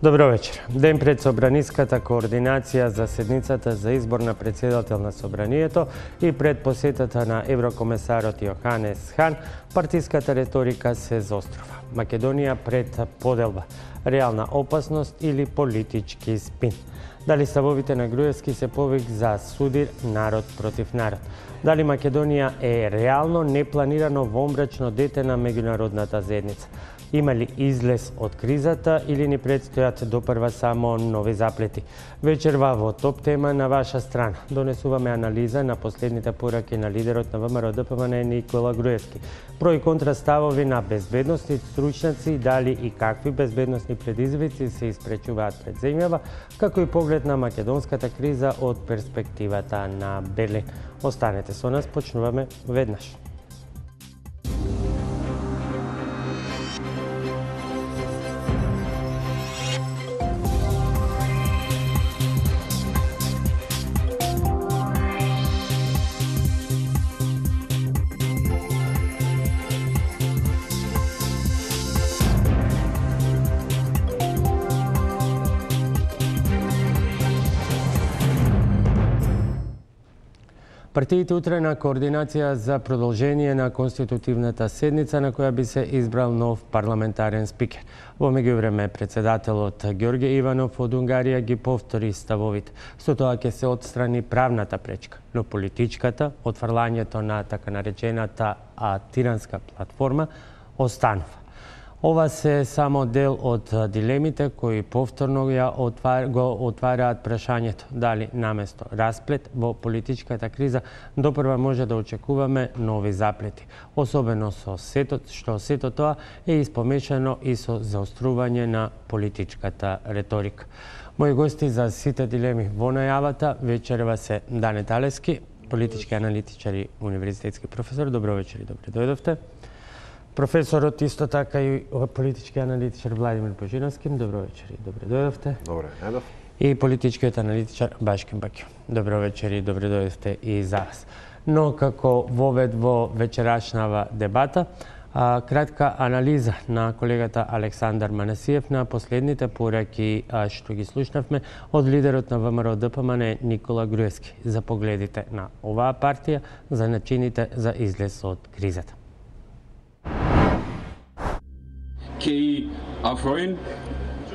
Добро вечер. Ден пред собраниската координација за седницата за избор на председател на собранието и пред посетата на еврокомесарот Јоханес Хан, партиската реторика се заострува. Македонија пред поделба, реална опасност или политички спин. Дали ставовите на Груевски се повик за судир народ против народ? Дали Македонија е реално непланирано вомбрачно дете на меѓународната заедница? Има ли излез од кризата или ни предстојат допрва само нови заплети? Вечерва во топ тема на ваша страна донесуваме анализа на последните пораки на лидерот на ВМРО-ДПМН Никола Груевски. Про и контра ставови на безбедносни стручњаци, дали и какви безбедносни предизвици се испречуваат пред земјава, како и поглед на македонската криза од перспективата на Берлин. Останете со нас, почнуваме веднаш. Партиите утре на координација за продолжение на конститутивната седница на која би се избрал нов парламентарен спикер. Во меѓувреме председателот Ѓорѓе Иванов од Унгарија ги повтори ставовите. Со тоа ќе се отстрани правната пречка, но политичката, отфрлањето на така наречената тиранска платформа останува. Ова се само дел од дилемите кои повторно го отвараат прашањето дали наместо расплет во политичката криза допрва може да очекуваме нови заплети, особено со што сето тоа е испомешано и со заострување на политичката реторика. Мои гости за сите дилеми во најавата вечерва се Дане Талески, политички аналитичар и универзитетски професор. Добро вечер и добре дојдовте. Професорот исто така и политички аналитичар Владимир Божиновски. Добро вечер и добре дојдовте. Добре, едов. И политичкиот аналитичар Башкин Бакио. Добро вечер и добре дојдовте и за вас. Но како вовед во вечерашнава дебата, кратка анализа на колегата Александар Манасиев на последните пораки што ги слушнавме од лидерот на ВМРО-ДПМН Никола Груевски за погледите на оваа партија, за начините за излез од кризата. Kei afroin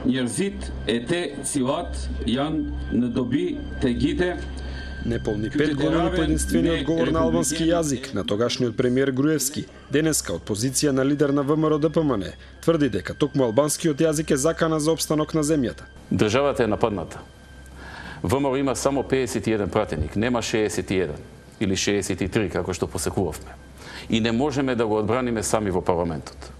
njerëzit e te cilat janë në dobi të gjite. Неполни 5 години по единствениот говор на албански јазик на тогашниот премиер Груевски, денеска од позиција на лидер на ВМРО-ДПМН, тврди дека токму албанскиот јазик е закана за опстанок на земјата. Државата е нападната. ВМРО има само 51 пратеник, нема 61 или 63 како што посекувавме. И не можеме да го одбраниме сами во парламентот.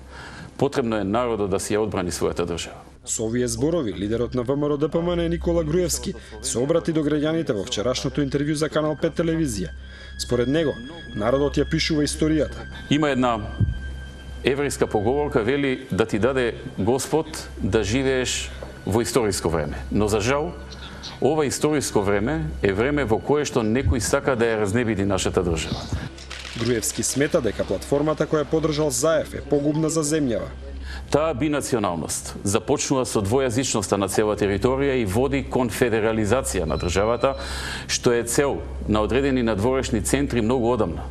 Потребно е народот да си ја одбрани својата држава. Со овие зборови, лидерот на ВМРО-ДПМН Никола Груевски се обрати до граѓаните во вчерашното интервју за Канал 5 телевизија. Според него, народот ја пишува историјата. Има една еврејска поговорка, вели да ти даде Господ да живееш во историско време. Но за жал, ова историско време е време во кое што некој сака да ја разнебиди нашата држава. Груевски смета дека платформата која поддржал Заев е погубна за земјава. Таа бинационалност започнува со двојазичноста на цела територија и води кон федерализација на државата, што е цел на одредени надворешни центри многу одамна.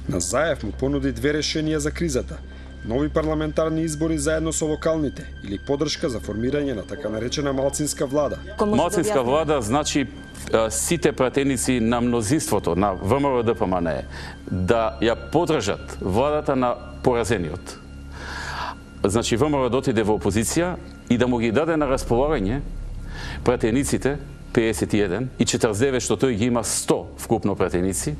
На Заев му понуди две решенија за кризата: нови парламентарни избори заедно со локалните или поддршка за формирање на така наречена малцинска влада. Малцинска влада значи сите пратеници на мнозинството на ВМРО-ДПМН да ја поддржат владата на поразениот. Значи ВМРО да отиде во опозиција и да му ги даде на располагање пратениците 51 и 49 што тој ги има 100 вкупно пратеници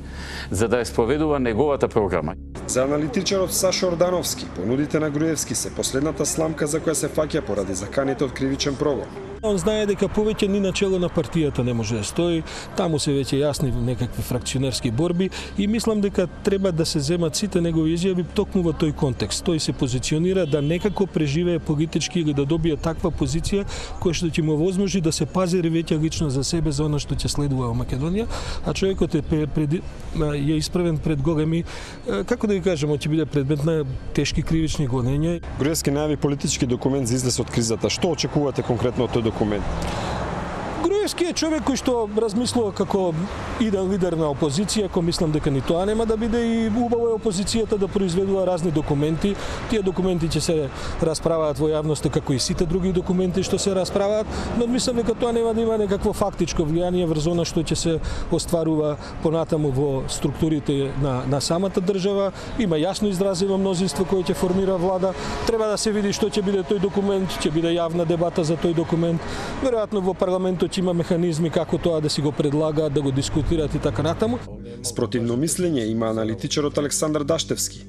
за да ја спроведува неговата програма. За аналитичарот Сашо Ордановски, понудите на Груевски се последната сламка за која се фаќа поради заканите од кривичен прогон. Он знае дека повеќе ни начело на партијата не може да стои, таму се веќе јасни некакви фракционерски борби и мислам дека треба да се земат сите негови изјави токму во тој контекст. Тој се позиционира да некако преживее политички или да добие таква позиција која што ќе му возможи да се пазари веќе лично за себе за она што ќе следува во Македонија, а човекот е исправен пред големи, како да ги кажеме, ќе биде предмет на тешки кривични гонења. Груевски најави политички документ за излез од кризата. Што очекувате конкретно од тој документ. Груевски е човек кој што размислува како иден лидер на опозиција, кој мислам дека ни тоа нема да биде, и убаво е опозицијата да произведува разни документи. Тие документи ќе се расправаат во јавноста како и сите други документи што се расправаат, но мислам дека тоа нема да има некакво фактичко влијание врз она што ќе се остварува понатаму во структурите на самата држава. Има јасно изразено мнозинство кое ќе формира влада. Треба да се види што ќе биде тој документ, ќе биде јавна дебата за тој документ. Веројатно во парламентот има механизми како тоа да си го предлагаат, да го дискутираат и така натаму. Спротивно мислење има аналитичарот Александар Даштевски.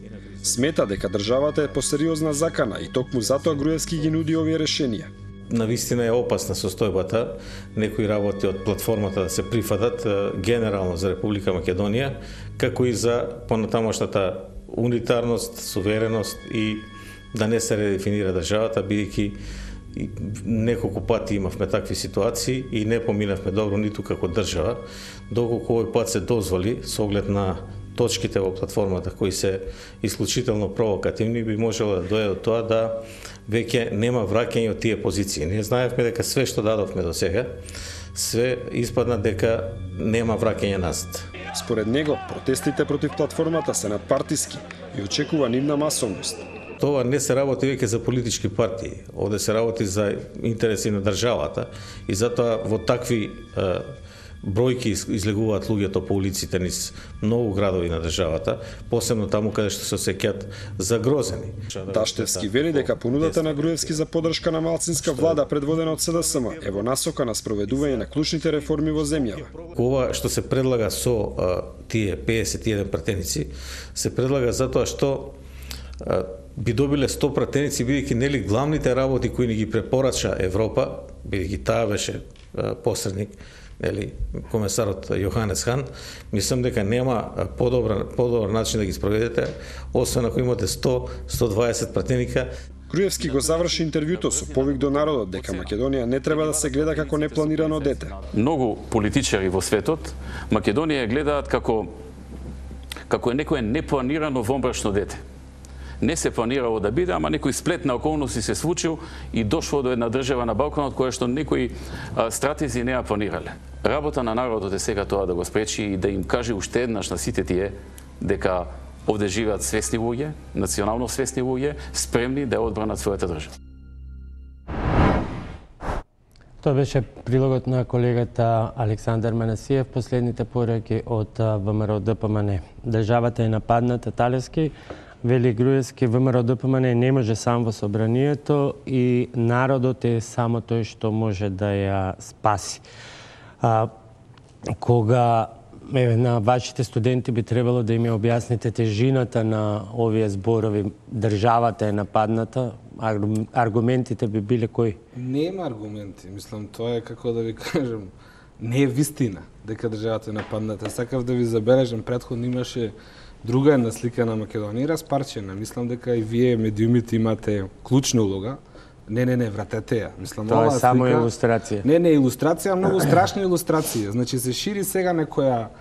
Смета дека државата е посериозна закана и токму затоа Груевски ги нуди овие решенија. Навистина е опасна состојбата, некои работи од платформата да се прифатат генерално за Република Македонија, како и за понатамошната унитарност, сувереност и да не се редефинира државата, бидејќи неколку пати имавме такви ситуации и не поминавме добро ниту како држава, доколку овој пат се дозволи со оглед на точките во платформата кои се исклучително провокативни, би можело да дојде до тоа да веќе нема враќање од тие позиции. Ние знаевме дека све што дадовме до сега, све испадна дека нема враќање назад. Според него, протестите против платформата се надпартиски и очекува нивна масовност. Тоа не се работи веќе за политички партии, овде се работи за интереси на државата и затоа во такви бројки излегуваат луѓето по улиците низ многу градови на државата, посебно таму каде што се осеќаат загрозени. Даштевски вели дека понудата на Груевски за поддршка на малцинска влада предводена од СДСМ е во насока на спроведување на клучните реформи во земјава. Ова што се предлага со тие 51 пратеници, се предлага затоа што би добиле 100 пратеници, бидејќи нели главните работи кои ни ги препорача Европа, бидејќи таа беше посредник, нели комесарот Јоханес Хан, мислам дека нема подобар начин да ги спроведете, освен ако имате 100-120 пратеника. Груевски го заврши интервјуто со повик до народот дека Македонија не треба да се гледа како непланирано дете. Многу политичари во светот Македонија гледаат како е некое непланирано вонбрашно дете. Не се планирало да биде, ама некој сплет на околности се случил и дошло до една држава на Балканот која што некои стратези не ја планирале. Работа на народот е сега тоа да го спречи и да им каже уште еднаш на сите тие дека овде живеат свесни луѓе, национално свесни луѓе, спремни да ја одбранат својата држава. Тоа беше прилогот на колегата Александар Манасиев, последните пораки од ВМРО-ДПМН. Државата е нападната талески, вели Груевски, ВМРО-ДПМН не може сам во собранието и народот е само тој што може да ја спаси. Кога на вашите студенти би требало да им ја објасните тежината на овие зборови, државата е нападната, аргументите би биле кои? Нема аргументи, мислам, тоа е како да ви кажем, не е вистина дека државата е нападната. Сакав да ви забележам, претходно имаше друга една слика на Македонија, распарчена. Мислам дека и вие медиумите имате клучна улога. Не, вратете ја. Мислам, тоа е само слика... илустрација. Не, илустрација, многу страшна илустрација. Значи се шири сега некоја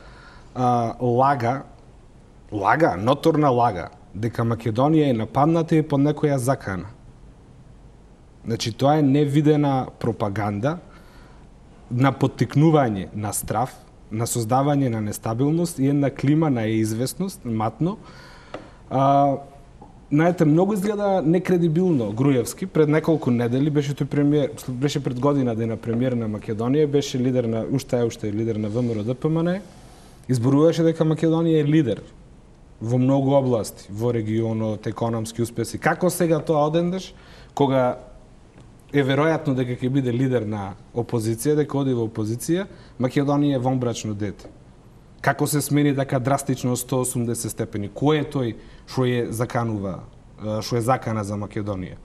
лага, ноторна лага, дека Македонија е нападната и под некоја закана. Значи тоа е невидена пропаганда на поттикнување на страв, на создавање на нестабилност и една клима на известност, матно. Знаете, многу изгледа некредибилно Груевски. Пред неколку недели беше тој премиер, беше пред година да е на премиер на Македонија, беше лидер на уште е лидер на ВМРО-ДПМН. Изборуваше дека Македонија е лидер во многу области, во регионот, економски успеси. Како сега тоа одендеш, кога е веројатно дека ќе биде лидер на опозиција, дека оди во опозиција, Македонија е вонбрачно дете. Како се смени така драстично 180 степени? Кој е тој што е закана за Македонија?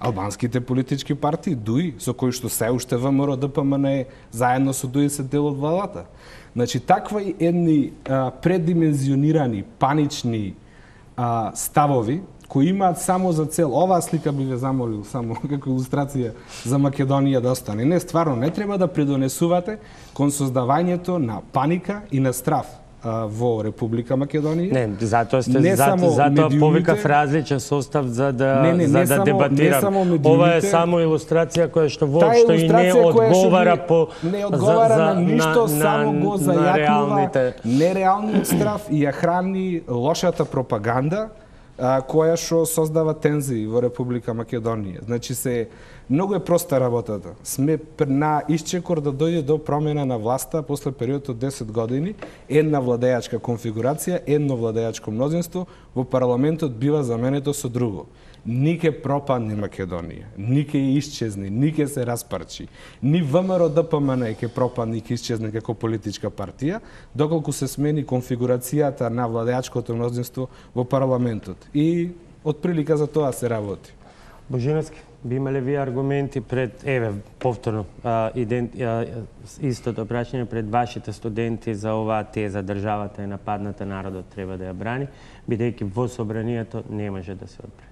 Албанските политички партии, ДУИ, со кои што се уште ВМРО-ДПМН заедно со ДУИ се дел од владата. Значи, такви едни предимензионирани, панични ставови, кои имаат само за цел, оваа слика би ве замолил само како илустрација за Македонија да остане. Не, стварно, не треба да придонесувате кон создавањето на паника и на страв. во Република Македонија. Не, затоа повикав различен состав за да дебатирам. Ова е само илустрација која што воопшто и не одговара на ништо, само го зајакнува нереалниот страв и ја храни лошата пропаганда која што создава тензии во Република Македонија. Значи многу е проста работата. Сме на исчекор да дојде до промена на власта после период од 10 години, една владеачка конфигурација, едно владеачко мнозинство, во парламентот бива заменето со друго. Нике пропадне Македонија, нике исчезне, нике се распарчи. Ни ВМРО ДПМН ќе пропадне и ќе исчезне како политичка партија, доколку се смени конфигурацијата на владеачкото мнозинство во парламентот. И отприлика за тоа се работи. Божиновски, би имале вие аргументи пред, повторно, истото прашање пред вашите студенти за оваа теза, државата е нападната, народот треба да ја брани, бидејќи во собранието не може да се одбрани?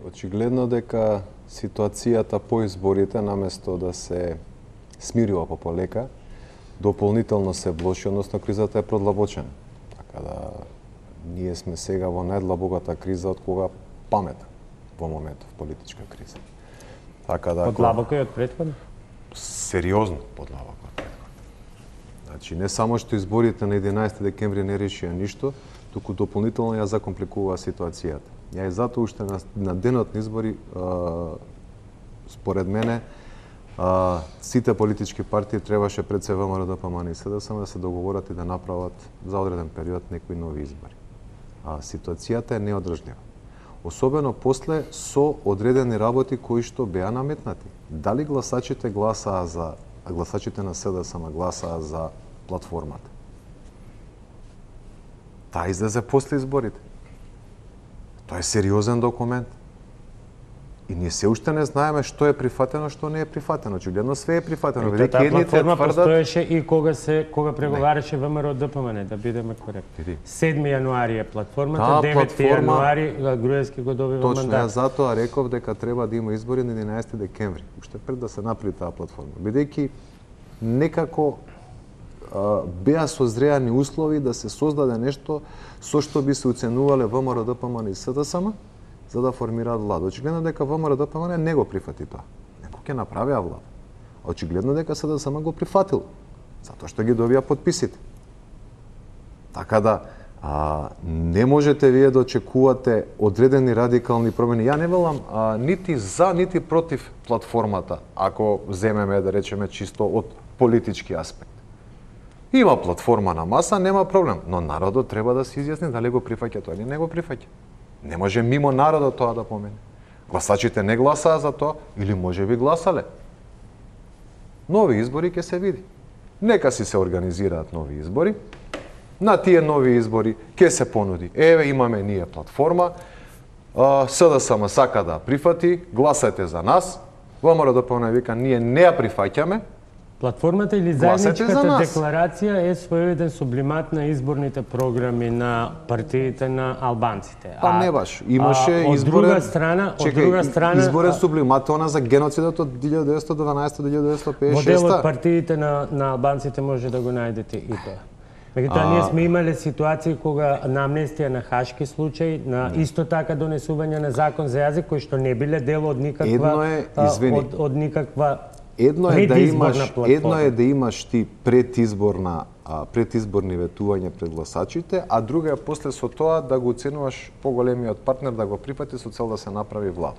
Очигледно дека ситуацијата по изборите, наместо да се смирува полека, дополнително се влоши, односно кризата е продлабочена. Така да ние сме сега во најдлабоката криза од кога памета во моментов политичка криза. Така да подлабоко е од претходно? Сериозно подлабоко од претходно. Значи не само што изборите на 11 декември не решија ништо, туку дополнително ја закомпликува ситуацијата. Ја и затоа уште на денот на избори, според мене, сите политички партии требаше пред се ВМРО ДПМН и СДСМ да се договорат и да направат за одреден период некои нови избори. Ситуацијата е неодржлива. Особено после со одредени работи кои што беа наметнати. Дали гласачите на СДСМ гласаа за платформата? Таа излезе после изборите. Тоа е сериозен документ. И ние се уште не знаеме што е прифатено, што не е прифатено. Очигледно све е прифатено. Таа платформа постоеше и кога преговараше ВМРО ДПМН, да бидеме коректни. 7 јануари е платформата, 9 јануари Груевски го добива мандат. Точно, ја затоа реков дека треба да има избори на 11 декември, уште пред да се направи таа платформа. Бидејќи некако беа созреани услови да се создаде нешто со што би се оценувале ВМРО ДПМН и СДСМ за да формираат влада. Очигледно дека ВМРО ДПМН не го прифати тоа. Некој ќе направиа влада. Очигледно дека СДСМ го прифатил, затоа што ги добија подписите. Така да не можете вие да очекувате одредени радикални промени. Ја не велам нити за, нити против платформата, ако земеме да речеме чисто од политички аспект. Има платформа на маса, нема проблем, но народот треба да се изјасни дали го прифаќа тоа или не го прифаќа. Не може мимо народот тоа да помине. Гласачите не гласаа за тоа или може би гласале. Нови избори ќе се види. Нека си се организираат нови избори. На тие нови избори ќе се понуди. Еве имаме ние платформа, СДСМ сака да прифати, гласајте за нас. ВМРО ДПМН вика ние не ја прифаќаме. Платформата или заедничката декларација е своевиден сублимат на изборните програми на партиите на албанците. Па не баш. Имаше изборен изборен сублимат она за геноцидот од 1912 до 1956. Моделот партиите на албанците може да го најдете и тоа. Меѓутоа, ние сме имале ситуации кога на амнестија на хашки случаи, на исто така донесување на закон за јазик, кои што не биле дел од никаква Едно е да имаш ти предизборни ветувања пред гласачите, а друго е после со тоа да го оценуваш поголемиот партнер да го прифати со цел да се направи влада.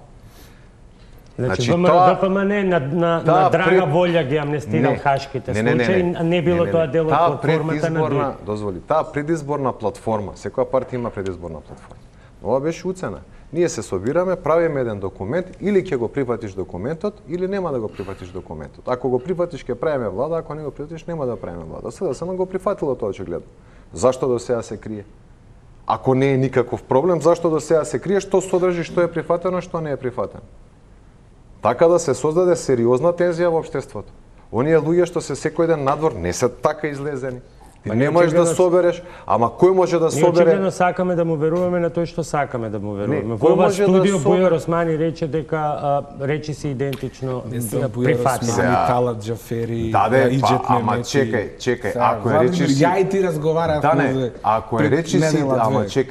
Значи ВМРО ДПМН на драга волја ги амнестирал хашките случаи, не било тоа дел од платформата на други. Дозволи, таа предизборна платформа, секоја партија има предизборна платформа. Ова беше уцена. Ние се собираме, правиме еден документ, или ќе го прифатиш документот, или нема да го прифатиш документот. Ако го прифатиш, ќе правиме влада, ако не го прифатиш, нема да правиме влада. СДСМ го прифатило тоа очигледно. Зашто до сега се крие? Ако не е никаков проблем, зашто до сега се крие, што содржи, што е прифатено, што не е прифатено? Така да се создаде сериозна тензија во општеството. Оние луѓе што се секој ден надвор не се така излезени. Не можеш да собереш, ама кој може да собере? Ние очигледно сакаме да му веруваме на тој што сакаме да му веруваме. Во ова може студио да Бујар Османи рече дека речи се идентично прифатни. Талат Џафери, ама чекај, ако е речи си... Ја и ти разговаравме. Ако е речи си,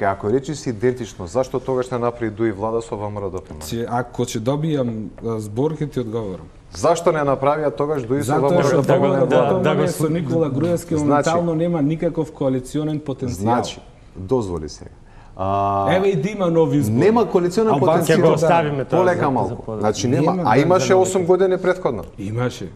ако е речи си идентично, зашто тогаш не направи дуи влада со ВМРО ДПМНЕ? Ако ќе добијам збор, ќе ти одговорам. Зашто не направија тогаш дуи со ВМРО ДПМНЕ? Да го со Никола Груевски моментално нема никаков коалиционен потенцијал. Значи, дозволи сега. Еве и да има нов избор. Нема коалиционен потенцијал. Ќе го оставиме тоа. Полека малку. Значи нема, а имаше 8 години претходно. Имаше.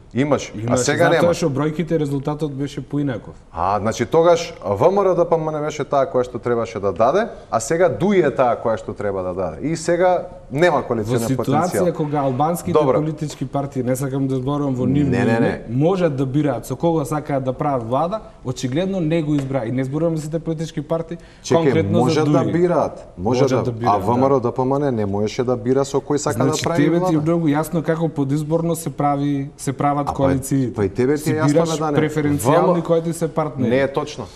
А сега нема. Затоа што бројките резултатот беше поинаков. Значи тогаш ВМРО ДПМНЕ беше таа која што требаше да даде, а сега ДУИ е таа која што треба да даде. И сега нема коалиционен потенцијал. Во ситуација кога албанските политички партии, не сакам да зборувам во нивно име, можат да бираат со кого сакаат да прават влада, очигледно не го избра. И не зборувам за сите политички партии, конкретно за ДУИ. Може да бира, а ВМРО ДПМНЕ не можеше да бира со кој сака да прави влада. Тебе ти е многу јасно како подизборно се прават коалиции. Па и тебе ти е јасно да не. Преференцијални кои ти се партнери. Не е точно.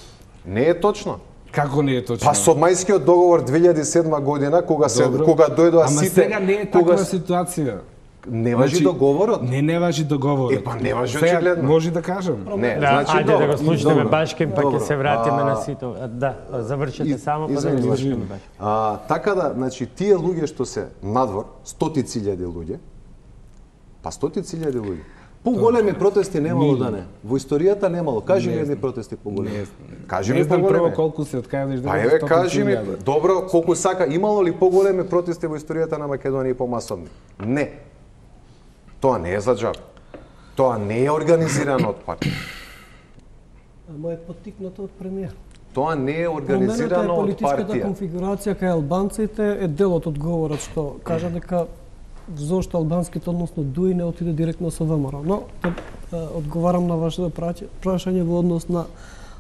Не е точно. Како не е точно? Па со мајскиот договор 2007 година кога дојдоа сите, ама сега не е таква ситуација. Не важи договорот? Не важи договорот. Па не важи очигледно. Може да кажам. Не, значи ајде да го слушаме Башкин, па ќе се вратиме на сите. Да, завршете само па да го слушаме Башкин. Така да, значи тие луѓе што се надвор, стотици илјади луѓе, па стотици илјади луѓе. Поголеми протести немало да не. Во историјата немало. Кажи ми едни протести поголеми. Кажи ми поголеми. Прво колку се откажеш да. Па еве кажи ми, добро, колку сака, имало ли поголеми протести во историјата на Македонија и помасовни? Не. Тоа не е за џаб. Тоа не е организирано од партија. Ама е поттикнато од премиер. Тоа не е организирано од партија. Политичката конфигурација кај албанците е дел од одговорот што кажа дека зошто албанските, односно ДУИ, не отиде директно со ВМРО. Но одговарам на вашето прашање во однос на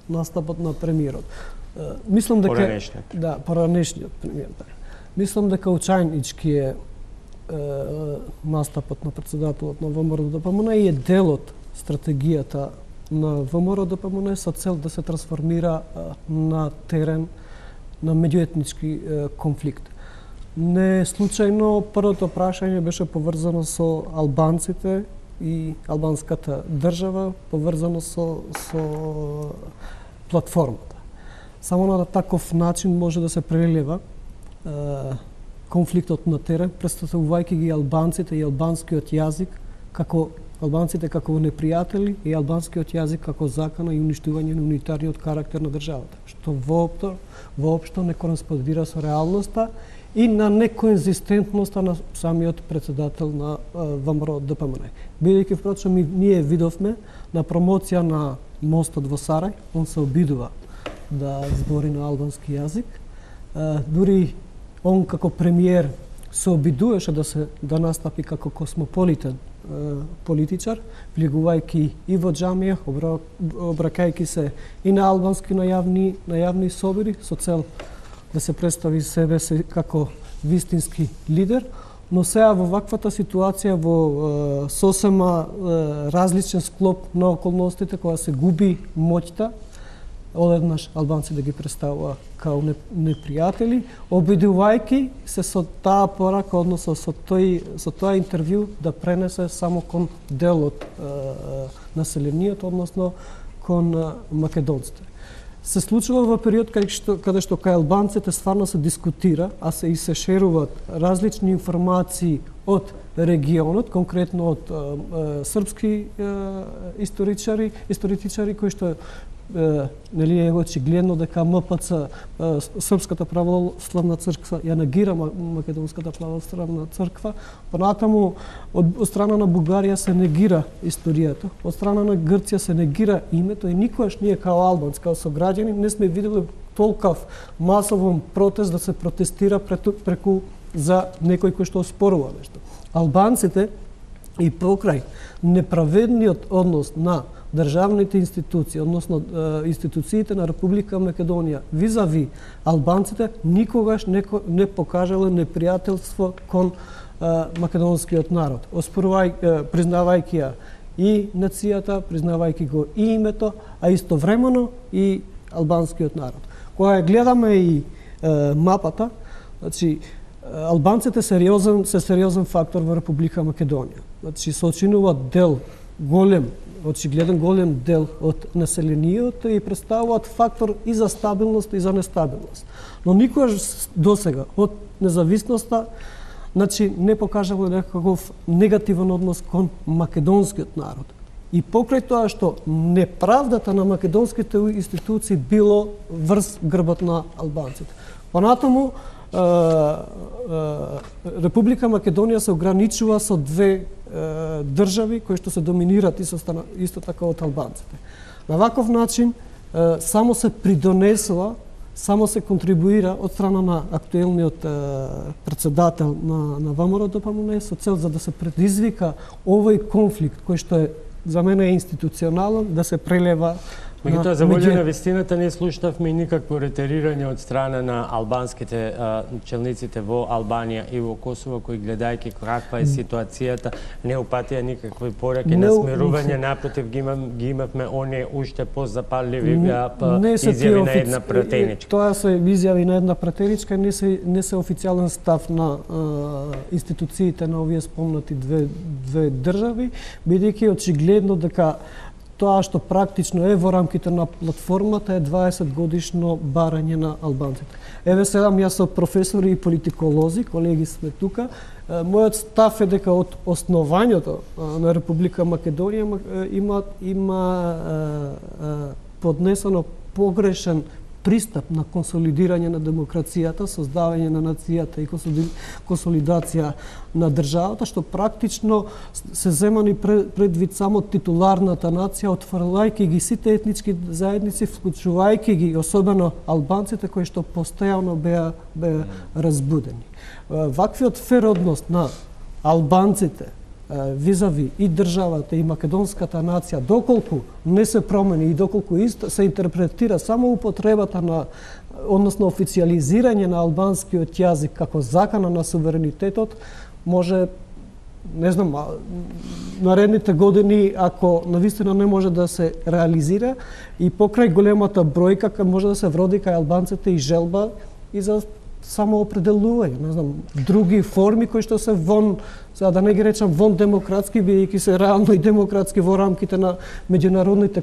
настапот на премиерот. Мислам дека поранешниот премиер. Мислам дека учајнички е настапот на председателот на ВМРО ДПМНЕ и е дел од стратегијата на ВМРО ДПМНЕ со цел да се трансформира на терен на меѓуетнички конфликт. Не случајно првото прашање беше поврзано со албанците и албанската држава, поврзано со платформата. Само на таков начин може да се прелива конфликтот на терен, представувајќи ги албанците и албанскиот јазик како албанците како непријатели и албанскиот јазик како закана и уништување на унитарниот карактер на државата, што воопшто не кореспондира со реалноста и на неконзистентноста на самиот председател на ВМРО ДПМНЕ. Бидејќи впрочем ние видовме на промоција на мостот во Сарај, он се обидува да збори на албански јазик. Дури он како премиер се обидуваше да настапи како космополитен политичар, влегувајќи и во џамија, обракајќи се и на албански на јавни собори со цел да се представи себе како вистински лидер, но сега во ваквата ситуација, во сосема различен склоп на околностите, кога се губи моќта, одеднаш албанци да ги представува као непријатели, обидувајќи се со таа порака, односно со тоа интервју да пренесе само кон дел од населението, односно кон македонците. Се случува во период каде што кај албанците стварно се дискутира, а се шеруваат различни информации од регионот, конкретно од српски историчари кои што нели е очигледно дека МПЦ, Српската православна црква, ја негира Македонската православна црква, понатаму од страна на Бугарија се негира историјата, од страна на Грција се негира името и никогаш ние као албанци, као сограѓани, не сме видели толков масовен протест да се протестира преку за некој кој што оспорува нешто. Албанците и покрај неправедниот однос на државните институции, односно институциите на Република Македонија визави албанците, никогаш не покажале непријателство кон македонскиот народ, признавајќи ја и нацијата, признавајќи го и името, а истовремено и албанскиот народ. Кога гледаме и мапата, значи албанците се сериозен фактор во Република Македонија. Значи се очинуваат очигледен голем дел од населението и представуваат фактор и за стабилност и за нестабилност. Но никогаш досега од независноста значи не покажало некаков негативен однос кон македонскиот народ. И покрај тоа што неправдата на македонските институции било врз грбот на албанците. Понатаму Република Македонија се ограничува со две држави кои што се доминират исто така од албанците. На ваков начин само се придонесува, само се контрибуира од страна на актуелниот председател на ВМРО-ДПМНЕ со цел за да се предизвика овој конфликт кој што е за мене е институционален, да се прелева. Меѓутоа, за волја на вистината не слушнавме никакво ретерирање од страна на албанските челниците во Албанија и во Косово, кои гледајќи каква е ситуацијата, не упатија никакви пораки на смирување, напротив ги имавме оние уште позапалливи изјави на една пратеничка. Тоа се изјави на една пратеничка, не се официјален став на институциите на овие спомнати две држави, бидејќи очигледно дека тоа што практично е во рамките на платформата е 20 годишно барање на албанците. Еве седам јас со професори и политиколози, колеги сме тука. Мојот став е дека од основањето на Република Македонија има поднесено погрешен пристап на консолидирање на демокрацијата, создавање на нацијата и консолидација на државата, што практично се земани предвид само титуларната нација, отфрлајќи ги сите етнички заедници, вклучувајќи ги особено албанците кои што постојано беа разбудени. Ваквиот фер однос на албанците визави и државата и македонската нација, доколку не се промени и доколку се интерпретира само употребата на, односно официализирање на албанскиот јазик како закана на суверенитетот, може, не знам, наредните години, ако навистина не може да се реализира и покрај големата бројка, може да се вроди кај албанците и желба и за самоопределување, не знам, други форми кои што се вон, сега да не ги речам вон демократски, бидејќи се реално и демократски во рамките на меѓународните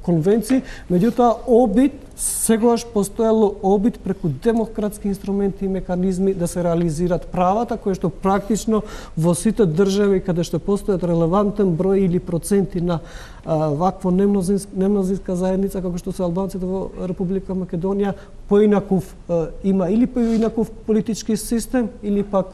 конвенции, меѓутоа сегогаш постоело обид преку демократски инструменти и механизми да се реализират правата, кои што практично во сите држави каде што постојат релевантен број или проценти на вакво немнозинска заедница, како што се албанците во Република Македонија, поинаков има или поинаков политички систем, или пак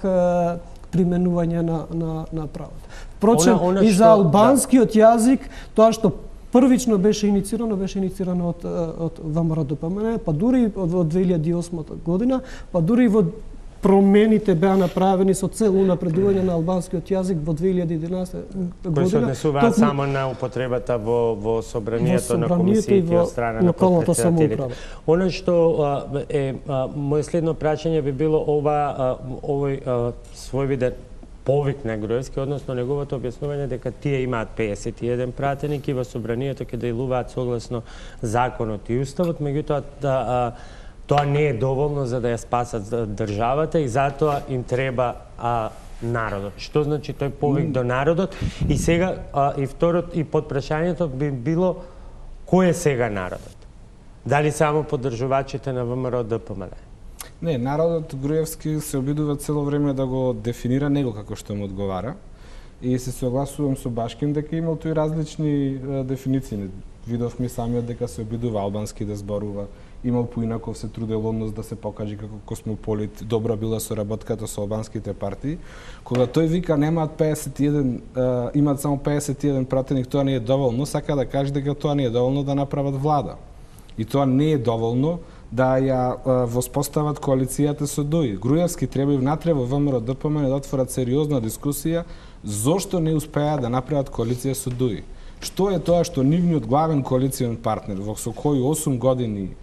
применување на правата. Впрочем, и за албанскиот јазик, тоа што првично беше иницирано од ВМРО-ДПМНЕ, па дури во 2008 година, па дури во промените беа направени со цел унапредување на албанскиот јазик во 2011 година. Кои се однесуваат само на употребата во собранието на комисиите од страна на подпредседателите. Оно што е моје следно прашање би било овој својвиден повик на Груевски, односно неговото објаснување дека тие имаат 51 пратеник и во собранието ќе делуваат согласно законот и уставот, меѓутоа тоа не е доволно за да ја спасат државата и затоа им треба народот. Што значи тој повик до народот? И сега и второто и подпрашањето би било кој е сега народот? Дали само поддржувачите на ВМРО-ДПМНЕ? Не, народот Груевски се обидува цело време да го дефинира него како што му одговара и се согласувам со Башкин дека имал тој различни дефиниции. Видовме самиот дека се обидува албански да зборува, имал поинаков се трудел однос да се покаже како космополит, добра била соработката со албанските партии. Кога тој вика имаат само 51 пратеник, тоа не е доволно, сака да каже дека тоа не е доволно да направат влада. И тоа не е доволно да ја воспостават коалицијата со ДОИ. Груевски треба и внатре во ВМРО-ДПМНЕ да отворат сериозна дискусија зошто не успеа да направат коалиција со ДОИ. Што е тоа што нивниот главен коалицијен партнер, со кој 8 години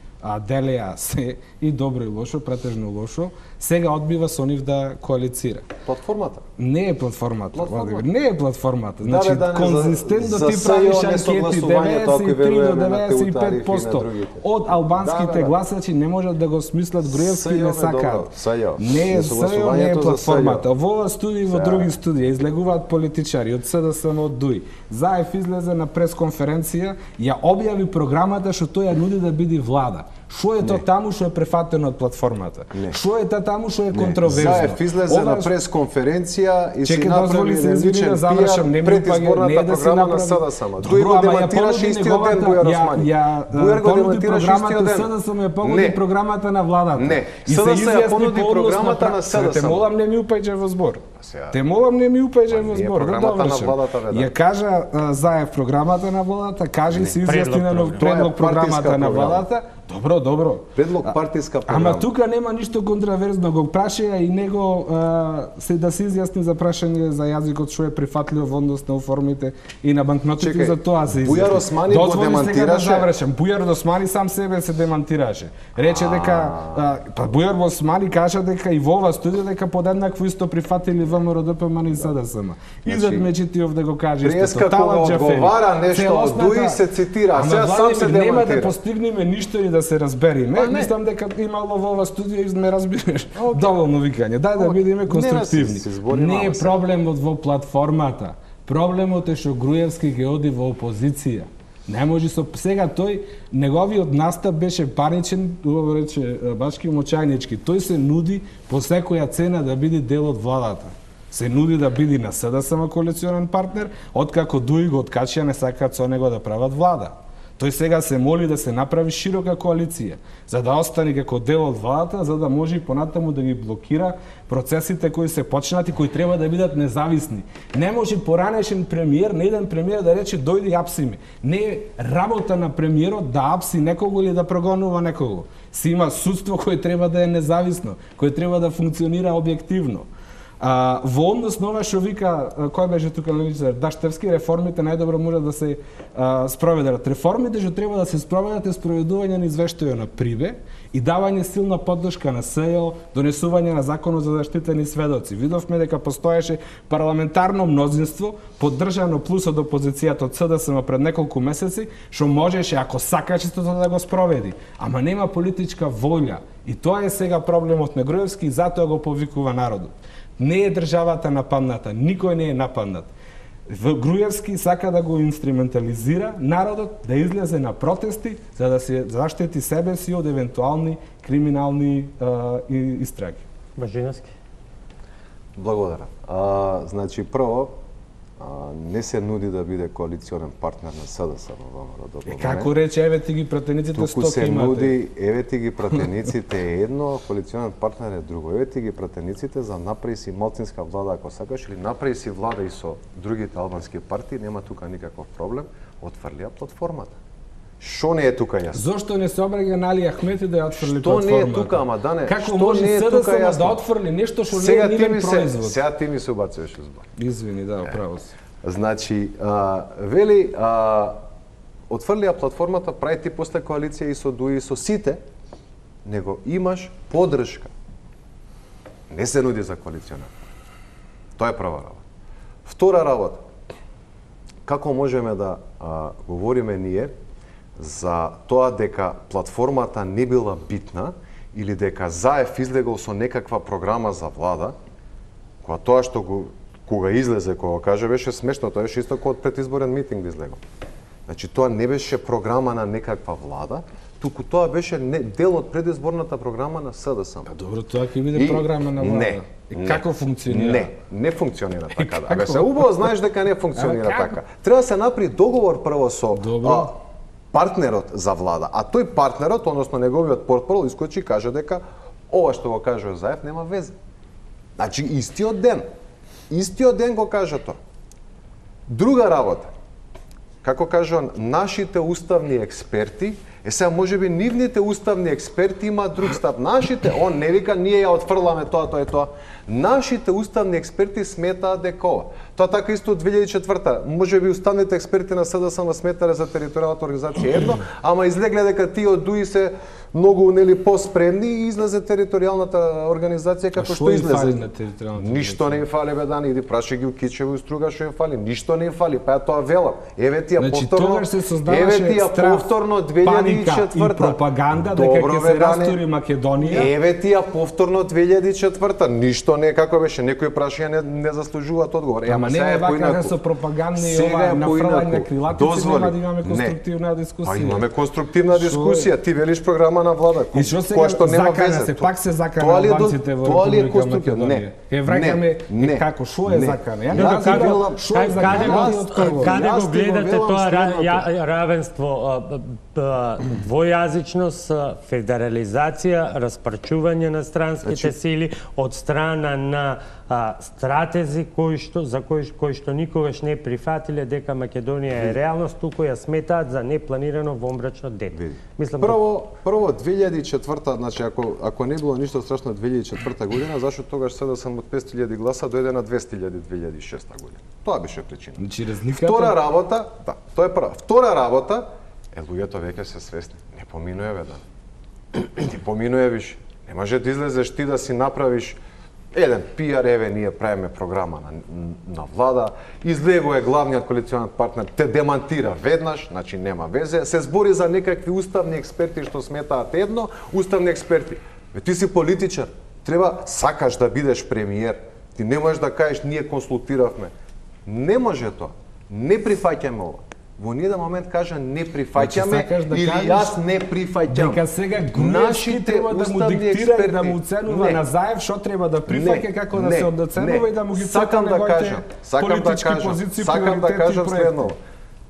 делеа се и добро и лошо, претежно лошо, сега одбива со нив да коалицира. Платформата? Не е платформата, Владимир, не е платформата. Значи, да, конзистентно ти правиш анкети, 93 до 95% од албанските гласачи не можат да го смислат Груевски и не сакаат. Не е СЈО, не е платформата. Во ова студија и во други студија излегуваат политичари од СДСМ, од ДУИ. Заев излезе на пресконференција, ја објави програмата што тој ја нуди да биде влада. Шо е тоа таму што е префатено од платформата? Шо е тоа таму што е контроверзно? Заев излезе на пресконференција и си направи личен пиар пред изборната програма на СДСМ. Тој го демонтираше истиот ден Бујар Османи. Бујар го демонтираше истиот ден. СДСМ ја понуди програмата на владата. Не, СДСМ ја понуди програмата на СДСМ. Те молам не ми упаѓај во збор. Те молам не ми упаѓај во збор. Програмата на владата ја кажа Заев програмата на владата, каже и се изјасни на нов предлог програмата на владата. Добро. Предлог партиска програма. Ама тука нема ништо контроверзно, го прашаја и него се да се изјасни за прашање за јазикот што е прифатлив во однос на уформите и на банкнотите, за тоа се изјасни. Бујар Османи го демантираше. Бујар Османи сам себе се демантираше. Рече дека Бујар Османи кажа дека и во ова студија дека подеднакво исто прифатили ВМРО ДПМН и СДСМ. Изад Мечитиов да го каже исто. Преска кога одговара нешто од ДУИ се цитира, сега сам се демантира. Нема да постигнеме ништо и да се разбериме. Мислам дека имало во ова студија и ме разбираш. Доволно викање. Дај да бидеме конструктивни. Не е проблемот во платформата. Проблемот е што Груевски ќе оди во опозиција. Не може сега тој неговиот настап беше паричен, убаво рече Башки Мочајнички. Тој се нуди по секоја цена да биде дел од владата. Се нуди да биде на СДСМ коалиционен партнер, откако ДУИ го откачија не сакаат со него да прават влада. Тој сега се моли да се направи широка коалиција, за да остане како дел од владата, за да може и понатаму да ги блокира процесите кои се почнати, кои треба да бидат независни. Не може поранешен премиер, не еден премиер да рече дојди и апси ме. Не е работа на премиерот да апси некого или да прогонува некого. Си има судство кое треба да е независно, кое треба да функционира објективно. Во однос на ова што вика, кој беше тука левичар, Даштевски, реформите најдобро може да се спроведат. Реформите што треба да се спроведат е спроведување на извештајот на Прибе и давање силна поддршка на СЈО, донесување на законот за заштитени сведоци. Видовме дека постоеше парламентарно мнозинство, поддржано плюс од опозицијата од СДСМ пред неколку месеци, што можеше, ако сакаше, да го спроведи. Ама нема политичка волја. И тоа е сега проблемот на Груевски и затоа го повикува народот. Не е државата нападната, никој не е нападнат. Груевски сака да го инструментализира народот, да излезе на протести, за да се заштити себе си од евентуални криминални истраги. Бажиновски. Благодарам. Значи, прво, не се нуди да биде коалиционен партнер на СДСМ во ВМРО. Како рече, еве ти ги пратениците 100 туку се имате. нуди, еве ти ги пратениците е едно, коалиционен партнер е друго. Еве ти ги пратениците за направи си малцинска влада ако сакаш или направи си влада и со другите албански партии, нема тука никаков проблем, отфрлија платформата. Што не е тука јасно? Зошто не се обраќа на Али Ахмети да ја отфрли платформата? платформата? Што не е тука, ама Дане? Како може СДСМ да отфрли нешто што не е нивен производ? Сега ти ми се убацуваш збор. Извини, да, право си. Значи, вели, отфрлија платформата, прави ти после коалиција и со ДУИ и со сите, него имаш поддршка. Не се нуди за коалиционер. Тоа е прва работа. Втора работа. Како можеме да говориме ние за тоа дека платформата не била битна или дека Заев излегол со некаква програма за влада, кога тоа што кога излезе, кога каже, беше смешно, тоа беше исто како од предизборен митинг да излегол. Значи, тоа не беше програма на некаква влада, туку тоа беше дел од предизборната програма на СДСМ. Добро, тоа ќе биде програма на влада. Не. И како функционира? Не функционира така. Абе, се убаво знаеш дека не функционира така. Треба да се направи договор прво со партнерот за влада, а тој партнерот, односно неговиот портпарол, искочи и каже дека ова што го кажува Заев нема везе. Значи, истиот ден го кажа тоа. Друга работа, како кажувам, нашите уставни експерти, сега можеби нивните уставни експерти имаат друг став. Нашите, он не вика, ние ја отфрламе тоа и тоа. Нашите уставни експерти сметаат дека ова. Тоа така исто од 2004-та. Можеби уставните експерти на СДСМ сметале за територијалната организација едно, ама излегле дека тие од ДУИ се многу нели поспремни и излезе територијалната организација како што излезе. Ништо не им фали бе Дани, иди прашај ги у Кичево и Струга што им фали, ништо не им фали, па тоа велам. Еве ти ја повторно, еве ти ја повторно 2004 и пропаганда дека ќе се растури Македонија. Еве ти ја повторно 2004 ништо не како беше, некои прашања не заслужуваат одговор. Ама не е вака со пропагандни и ова нафрлање крилатици, нема да имаме конструктивна дискусија. Па имаме конструктивна дискусија, ти велиш програма на влада, која што нема везе. Се пак се закана албанците во Република Македонија. Е враќаме како што е закана. Каде го гледате тоа равенство, двојазичност, федерализација, распарчување на странските сили од страна на стратези кои што никогаш не прифатиле дека Македонија е реалност, туку ја сметаат за непланирано вомбрачно дете. Мислам прво 2004, значи ако не било ништо страшно 2004 година, зашто тогаш СДСМ од 500.000 гласа дојде на 200.000 2006 година. Тоа беше причина. Значи разликата. Втора работа, да, тоа е прва. Втора работа луѓето веќе се свесни. Не поминуе бе да. Ти поминуе виш. Не може да излезеш ти да си направиш еден пиар, еве ние правиме програма на влада, излегува главниот коалиционен партнер, те демантира веднаш, значи нема везе, се збори за некакви уставни експерти што сметаат едно, уставни експерти. Ти си политичар, треба сакаш да бидеш премиер, ти не можеш да кажеш ние консултиравме. Не може тоа. Не прифаќаме ова. Во ниеден момент кажа не прифаќаме или јас не прифаќам. Дека сега Груевски треба да му диктира и да му оценува Назаев што треба да прифаќа, како да се одоценува и да му ги цека неговите политички позиции, сакам да кажам следно.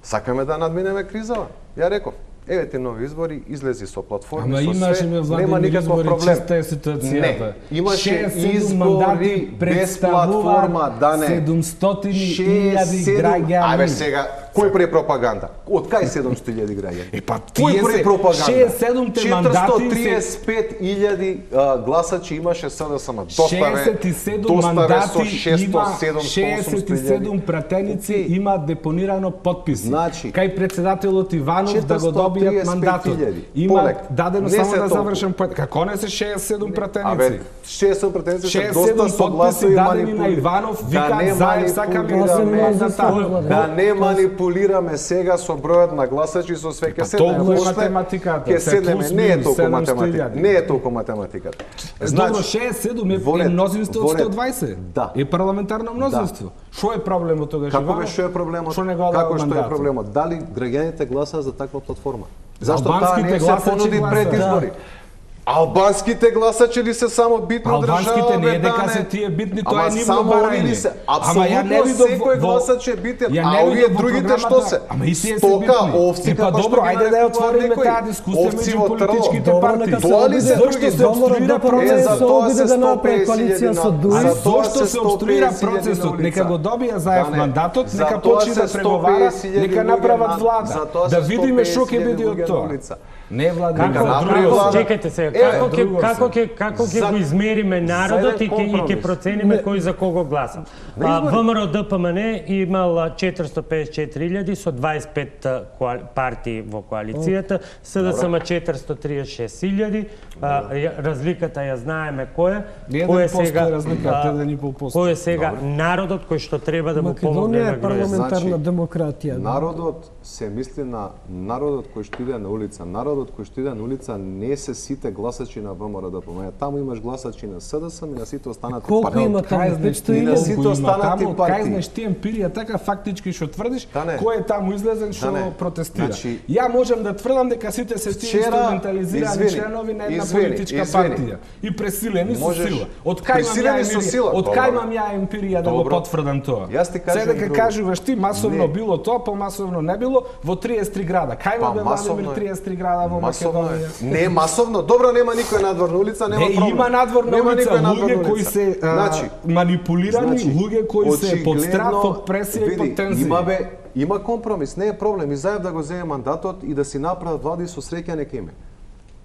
Сакаме да надминеме кризава. Ја реков, еве ти нови избори, излези со платформи, со све, нема никаков проблем. Чиста е ситуацијата. Имаше избори без платформа, да не. 700.000 граѓани. Абе сега, кој прави пропаганда? Од кај 700.000 граѓани? Па кој прави пропаганда? 67-те мандати 435.000 гласачи имаше СДСМ. 67 мандати има 67 пратеници има депонирано потписи. Значи, кај председателот Иванов да го добијат мандатот. Има дадено само да завршам поет. Како не се 67 пратеници? Абе, 67 пратеници се доста согласно и дадени на Иванов, вика Заев сака да не манипулираме сега со бројот на гласачи со све ќе седнеме. Толку е математиката. Ќе седнеме, не е толку математика. Не е толку математиката. Значи 67 е мнозинство од 120. Да. Е парламентарно мнозинство. Што е проблемот тогаш? Како што е проблемот? Како што е проблемот? Дали граѓаните гласаа за таква платформа? Зашто таа не се понуди пред избори? Албанските гласачи ли се само битни од држава? Албанските не е дека се тие битни, тоа е нивно барање. Апсолутно секој гласач е битен, а овие другите што се? Стока, овци, па добро, ајде да ја отвориме таа дискусија меѓу политичките партии. Тоа ли се други? Се обструира процесот, тоа се да направи коалиција со ДУИ. Зошто се обструира процесот? Нека го добија Заев мандатот, нека почне да преговара, нека направат влада. Да видиме што ќе биде од тоа. Не влада. Чекайте се, како ќе го измериме народот и ќе процениме кој за кого гласа? ВМРО ДПМН имал 454.000 со 25 партии во коалицијата, СДСМ 436.000, разликата ја знаеме кој е сега народот кој што треба да му помогне на Македонија е парламентарна демократија. Народот се мисли на народот кој што иде на улица. Народот кој што иде на улица не се сите гласачи на ВМРО ДПМН. Таму имаш гласачи на СДСМ и на сите останати партии. Колку има таму? 500.000? На сите останати партии. Кај знаеш ти емпирија така фактички што тврдиш, кој е таму излезен што протестира. Значи, ја можам да тврдам дека сите се тие инструментализирани членови на една политичка партија и пресилени со сила. Од кај имам ја емпирија да го потврдам тоа? Се дека кажуваш ти масовно било тоа, помасовно не било во 33 града. Кај има Владимир 33 града во Македонија? Не масовно, добро нема никој надворна улица, нема проблем. Има надворна улица, луѓе кои се манипулирани, луѓе кои се под страх, под пресија и под тензија. Има компромис, не е проблем. И Заев да го земе мандатот и да си направат влади со среќа нека име.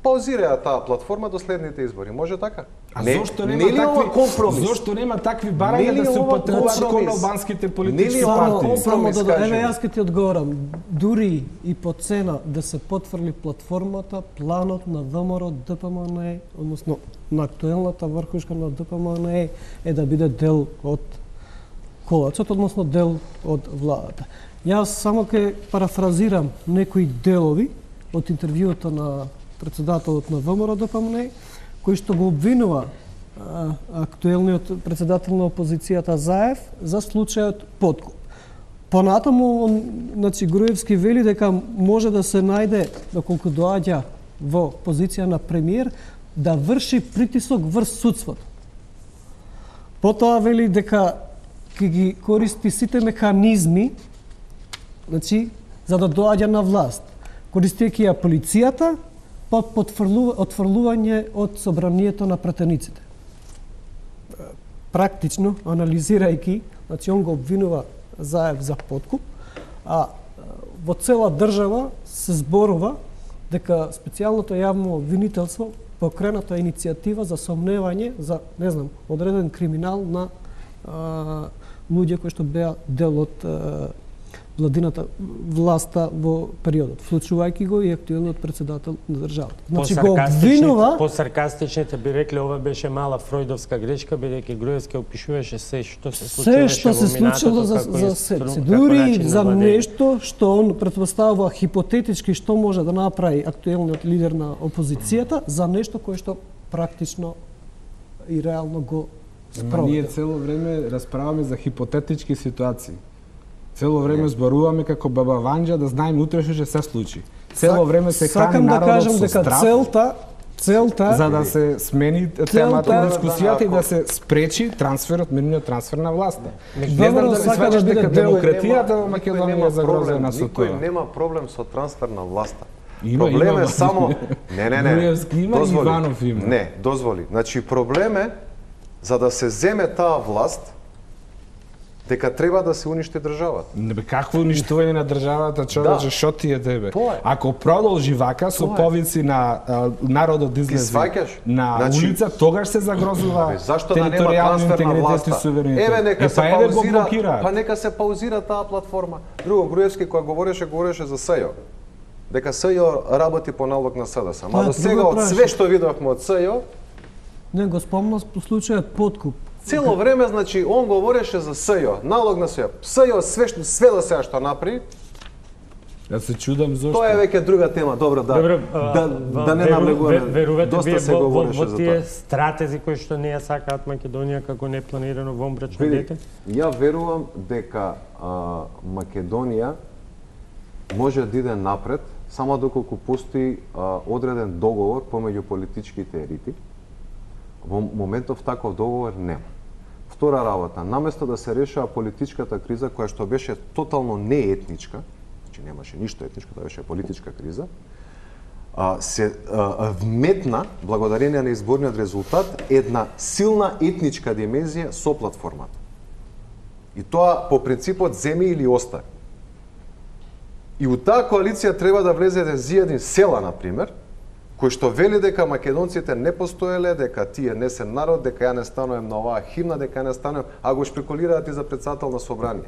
паузираја таа платформа до следните избори. Може така? А зошто нема такви компромис? Зошто нема такви барања да се употребат кон албанските политички партии? Само еве јас ќе ти одговорам. Дури и по цена да се потврди платформата, планот на ВМРО ДПМН, односно на актуелната врхушка на ДПМН е да биде дел од коалицијата, односно дел од владата. Јас само ќе парафразирам некои делови од интервјуото на председателот на ВМРО ДПМН, кој што го обвинува актуелниот председател на опозицијата Заев за случајот подкуп. Понатаму, значи, Груевски вели дека може да се најде, доколку доаѓа во позиција на премиер, да врши притисок врз судството. Потоа вели дека ќе ги користи сите механизми, значи, за да доаѓа на власт, користејќи ја полицијата, под отфрлување од собранието на пратениците. Практично, анализирајќи, значи, он го обвинува Заев за подкуп, а во цела држава се зборува дека специјалното јавно обвинителство покрената иницијатива за сомневање за, не знам, одреден криминал на луѓе кои што беа дел од владината власта во периодот, вклучувајќи го и актуелниот председател на државата. Значи го обвинува... По-саркастичните би рекле ова беше мала фројдовска грешка, бидејќи Груевски опишуваше се што се случило за се. Дури за нешто што он претпоставува хипотетички што може да направи актуелниот лидер на опозицијата, за нешто кое што практично и реално го спроведе. Ние цело време расправаме за хипотетички ситуации. Цело време зборуваме како баба Ванџа да знаеме утре што ќе се случи. Цело време се храни народот со страв. Целта за да се смени темата на дискусијата и да се спречи трансферот, мирниот трансфер на власта. Не знам дали сваќаш дека демократијата во Македонија е загрозена со тоа. Никој нема проблем со трансфер на власта. Проблем е само Груевски има, Иванов има. Не, дозволи. Значи проблем е за да се земе таа власт дека треба да се уништи државата. Какво уништување на државата, човече, шо ти е тебе? Ако продолжи вака со повици на народот излезе на улица, тогаш се загрозува територијалниот интегритет и суверенитет. Еве нека се паузира, па нека се паузира таа платформа. Друго, Груевски кога говореше за СЈО. Дека СЈО работи по налог на СДС. Ама до сега од све што видовме од СЈО, не го спомна по случајот подкуп. Цело време, значи, он говореше за СЈО, налог на СЈО. СЈО све до сега што направи. Јас се чудам зошто. Тоа е веќе друга тема, добро, да не навлегуваме. Доста се говореше за тоа. Тие стратези кои што не ја сакаат Македонија како непланирано вонбрачно дете? Ја верувам дека Македонија може да иде напред само доколку постои одреден договор помеѓу политичките елити. Во моментов таков договор нема. Втора работа, наместо да се решава политичката криза, која што беше тотално неетничка, значи немаше ништо етничко, тоа беше политичка криза, се вметна, благодарение на изборниот резултат, една силна етничка димензија со платформата. И тоа по принципот земи или остави. И у таа коалиција треба да влезе еден зијадин села, например, кој што вели дека македонците не постоеле, дека тие не се народ, дека ја не станувам на оваа химна, дека ја не станувам, а го шпекулираат и за председател на собрание.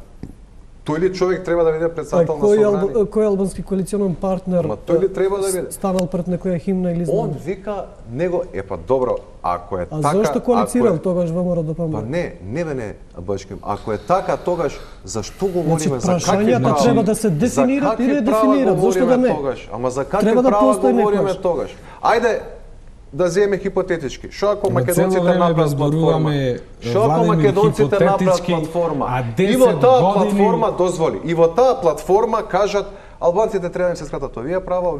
Тој ли човек треба да биде председател на собрание? Кој албански коалиционен партнер тој ли треба да биде? Станал пред некоја химна или знам? Он вика него, па добро, ако е така... А зошто коалицирал тогаш ВМРО ДПМН? Па не, Бачким. Ако е така, тогаш зашто говориме за какви прашањата треба да се дефинират и редефинират, зошто да не? Ама за какви права говориме тогаш? Ајде да земеме хипотетички. Шо ако македонците направат платформа? Шо ако македонците направат платформа? И во таа платформа дозволи. И во таа платформа кажат албанците треба да се скратат овие права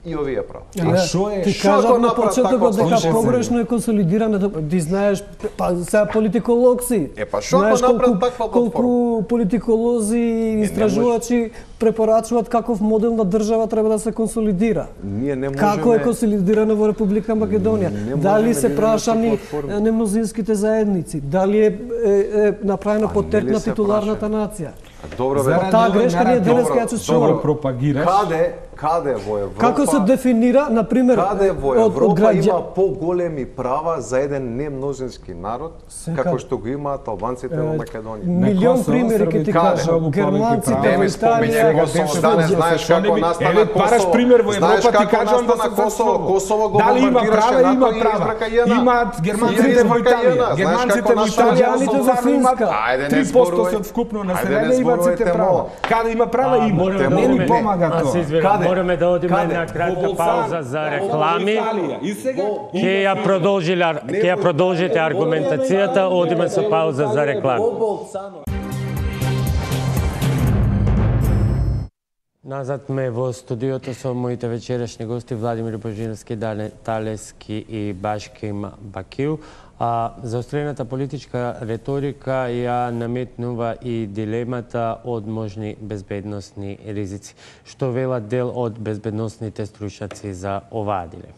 и овие права. А шо е? Ти кажав на почетокот дека погрешно е консолидирано, ти знаеш, па сега политиколог си. Па шо ако направат таква платформа? Колку политиколози и истражувачи препорачуваат каков модел на држава треба да се консолидира. Ние не можеме... Како е консолидирано во Република Македонија? Дали се прашани немнозинските заедници? Дали е направено по терк на титуларната нација? Добро, таа грешка ние денеска ја чувствуваме. Пропагираш. Каде во Европа? Како се дефинира, на пример, каде во Европа има поголеми права за еден немножински народ, како што го имаат албанците во Македонија? Милион примери ќе ти кажам. Германците во Италија, да не знаеш како настана Косово. Бараш пример во Европа, ти кажам да се Косово. Косово го дали има права, има права. Имаат Германците во Италија, германците во Италија, во Финска. 3% од вкупно население имаат сите права. Каде има права има. Не ни помага тоа. Мораме да одиме на кратка пауза за реклами. Ќе ја продолжите аргументацијата, одиме со пауза за реклами. Назад ме во студиото со моите вечерашни гости Владимир Божински, Талески и Башким Бакиу. Заострената политичка реторика ја наметнува и дилемата од можни безбедносни ризици. Што велат дел од безбедносните стручњаци за оваа дилема?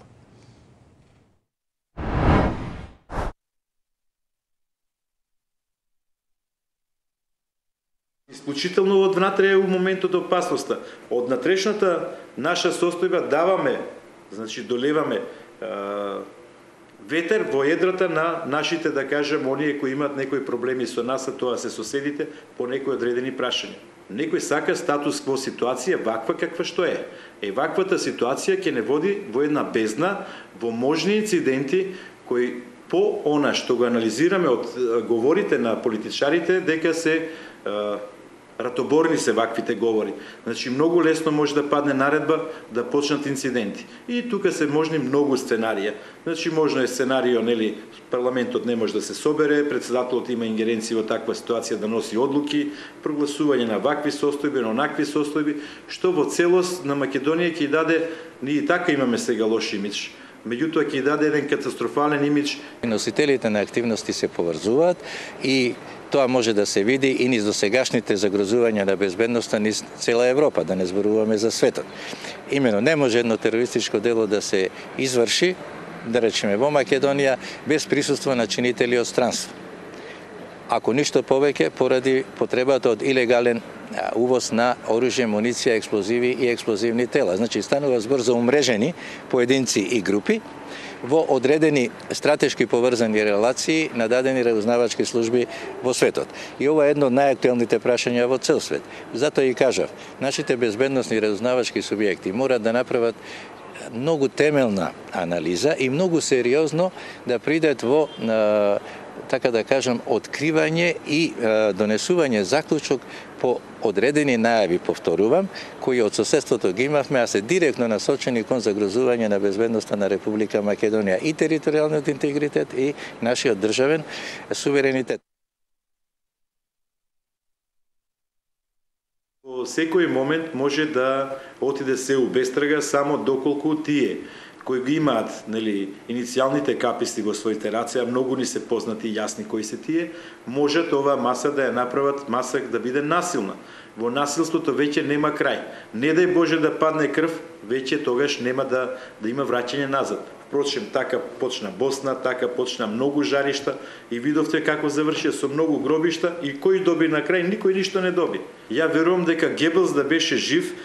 Исклучително од внатре е у моментот опасноста. Од натрешната наша состојба даваме, значи долеваме ветер во едрата на нашите, да кажем, оние кои имаат некои проблеми со нас, а тоа се соседите, по некои одредени прашања. Некој сака статус кво ситуација ваква каква што е. Ваквата ситуација ќе не води во една бездна, во можни инциденти кои по она што го анализираме од говорите на политичарите, дека се ратоборни се ваквите говори. Значи, многу лесно може да падне наредба да почнат инциденти. И тука се можни многу сценарија. Значи, можно е сценарио, нели, парламентот не може да се собере, председателот има ингеренција во таква ситуација да носи одлуки, прогласување на вакви состојби, на онакви состојби, што во целост на Македонија ќе даде, ние така имаме сега лош имидж, меѓутоа ќе даде еден катастрофален имидж. Носителите на активности се поврзуваат и тоа може да се види и низ досегашните загрозувања на безбедноста низ цела Европа, да не зборуваме за светот. Имено, не може едно терористичко дело да се изврши, да речеме во Македонија, без присуство на чинители од странство. Ако ништо повеќе, поради потребата од илегален увоз на оружје, муниција, експлозиви и експлозивни тела. Значи, станува збор за умрежени поединци и групи во одредени стратешки поврзани релации на дадени разузнавачки служби во светот. И ова е едно од најактуелните прашања во цел свет. Затоа и кажав, нашите безбедносни разузнавачки субјекти морат да направат многу темелна анализа и многу сериозно да придат во така да кажам, откривање и донесување заклучок по одредени најави, повторувам, кои од соседството ги имавме, а се директно насочени кон загрозување на безбедноста на Република Македонија и територијалниот интегритет и нашиот државен суверенитет. Во секој момент може да отиде се у бестрага само доколку тие кои ги имаат, нели, иницијалните каписти во своите раце, а многу ни се познати и јасни кои се тие, можат оваа маса да ја направат маса да биде насилна. Во насилството веќе нема крај. Не дај Боже да падне крв, веќе тогаш нема да има враќање назад. Впрочем, така почна Босна, така почна многу жаришта и видовте како завршија со многу гробишта и кој доби на крај, никој ништо не доби. Ја верувам дека Гебелс да беше жив,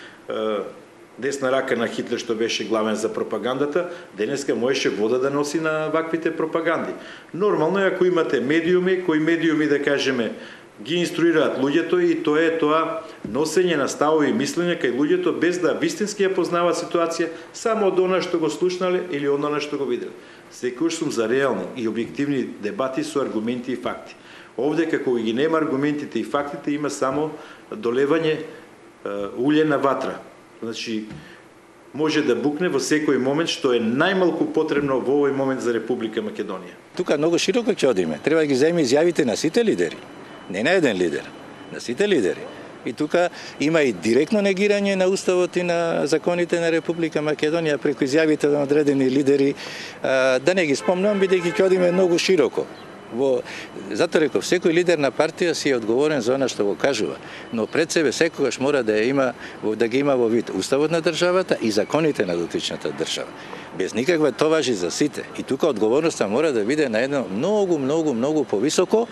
десна рака на Хитлер што беше главен за пропагандата, денеска можеше вода да носи на ваквите пропаганди. Нормално е ако имате медиуми, кои медиуми да кажеме ги инструираат луѓето и тоа е тоа носење на ставови и мислење кај луѓето без да вистински ја познаваат ситуација само од она што го слушнале или од она што го виделе. Секогаш сум за реални и објективни дебати со аргументи и факти. Овде како ги нема аргументите и фактите, има само долевање улје на ватра. Значи, може да букне во секој момент, што е најмалку потребно во овој момент за Република Македонија. Тука многу широко ќе одиме. Треба да ги земе изјавите на сите лидери. Не на еден лидер, на сите лидери. И тука има и директно негирање на уставот и на законите на Република Македонија преку изјавите на одредени лидери. Да не ги спомнам, бидејќи ќе одиме многу широко. Затоа реков, секој лидер на партија си е одговорен за она што го кажува, но пред себе секогаш мора да ги има во вид уставот на државата и законите на дотичната држава. Без никаква тоа важи за сите. И тука одговорноста мора да биде на едно многу повисоко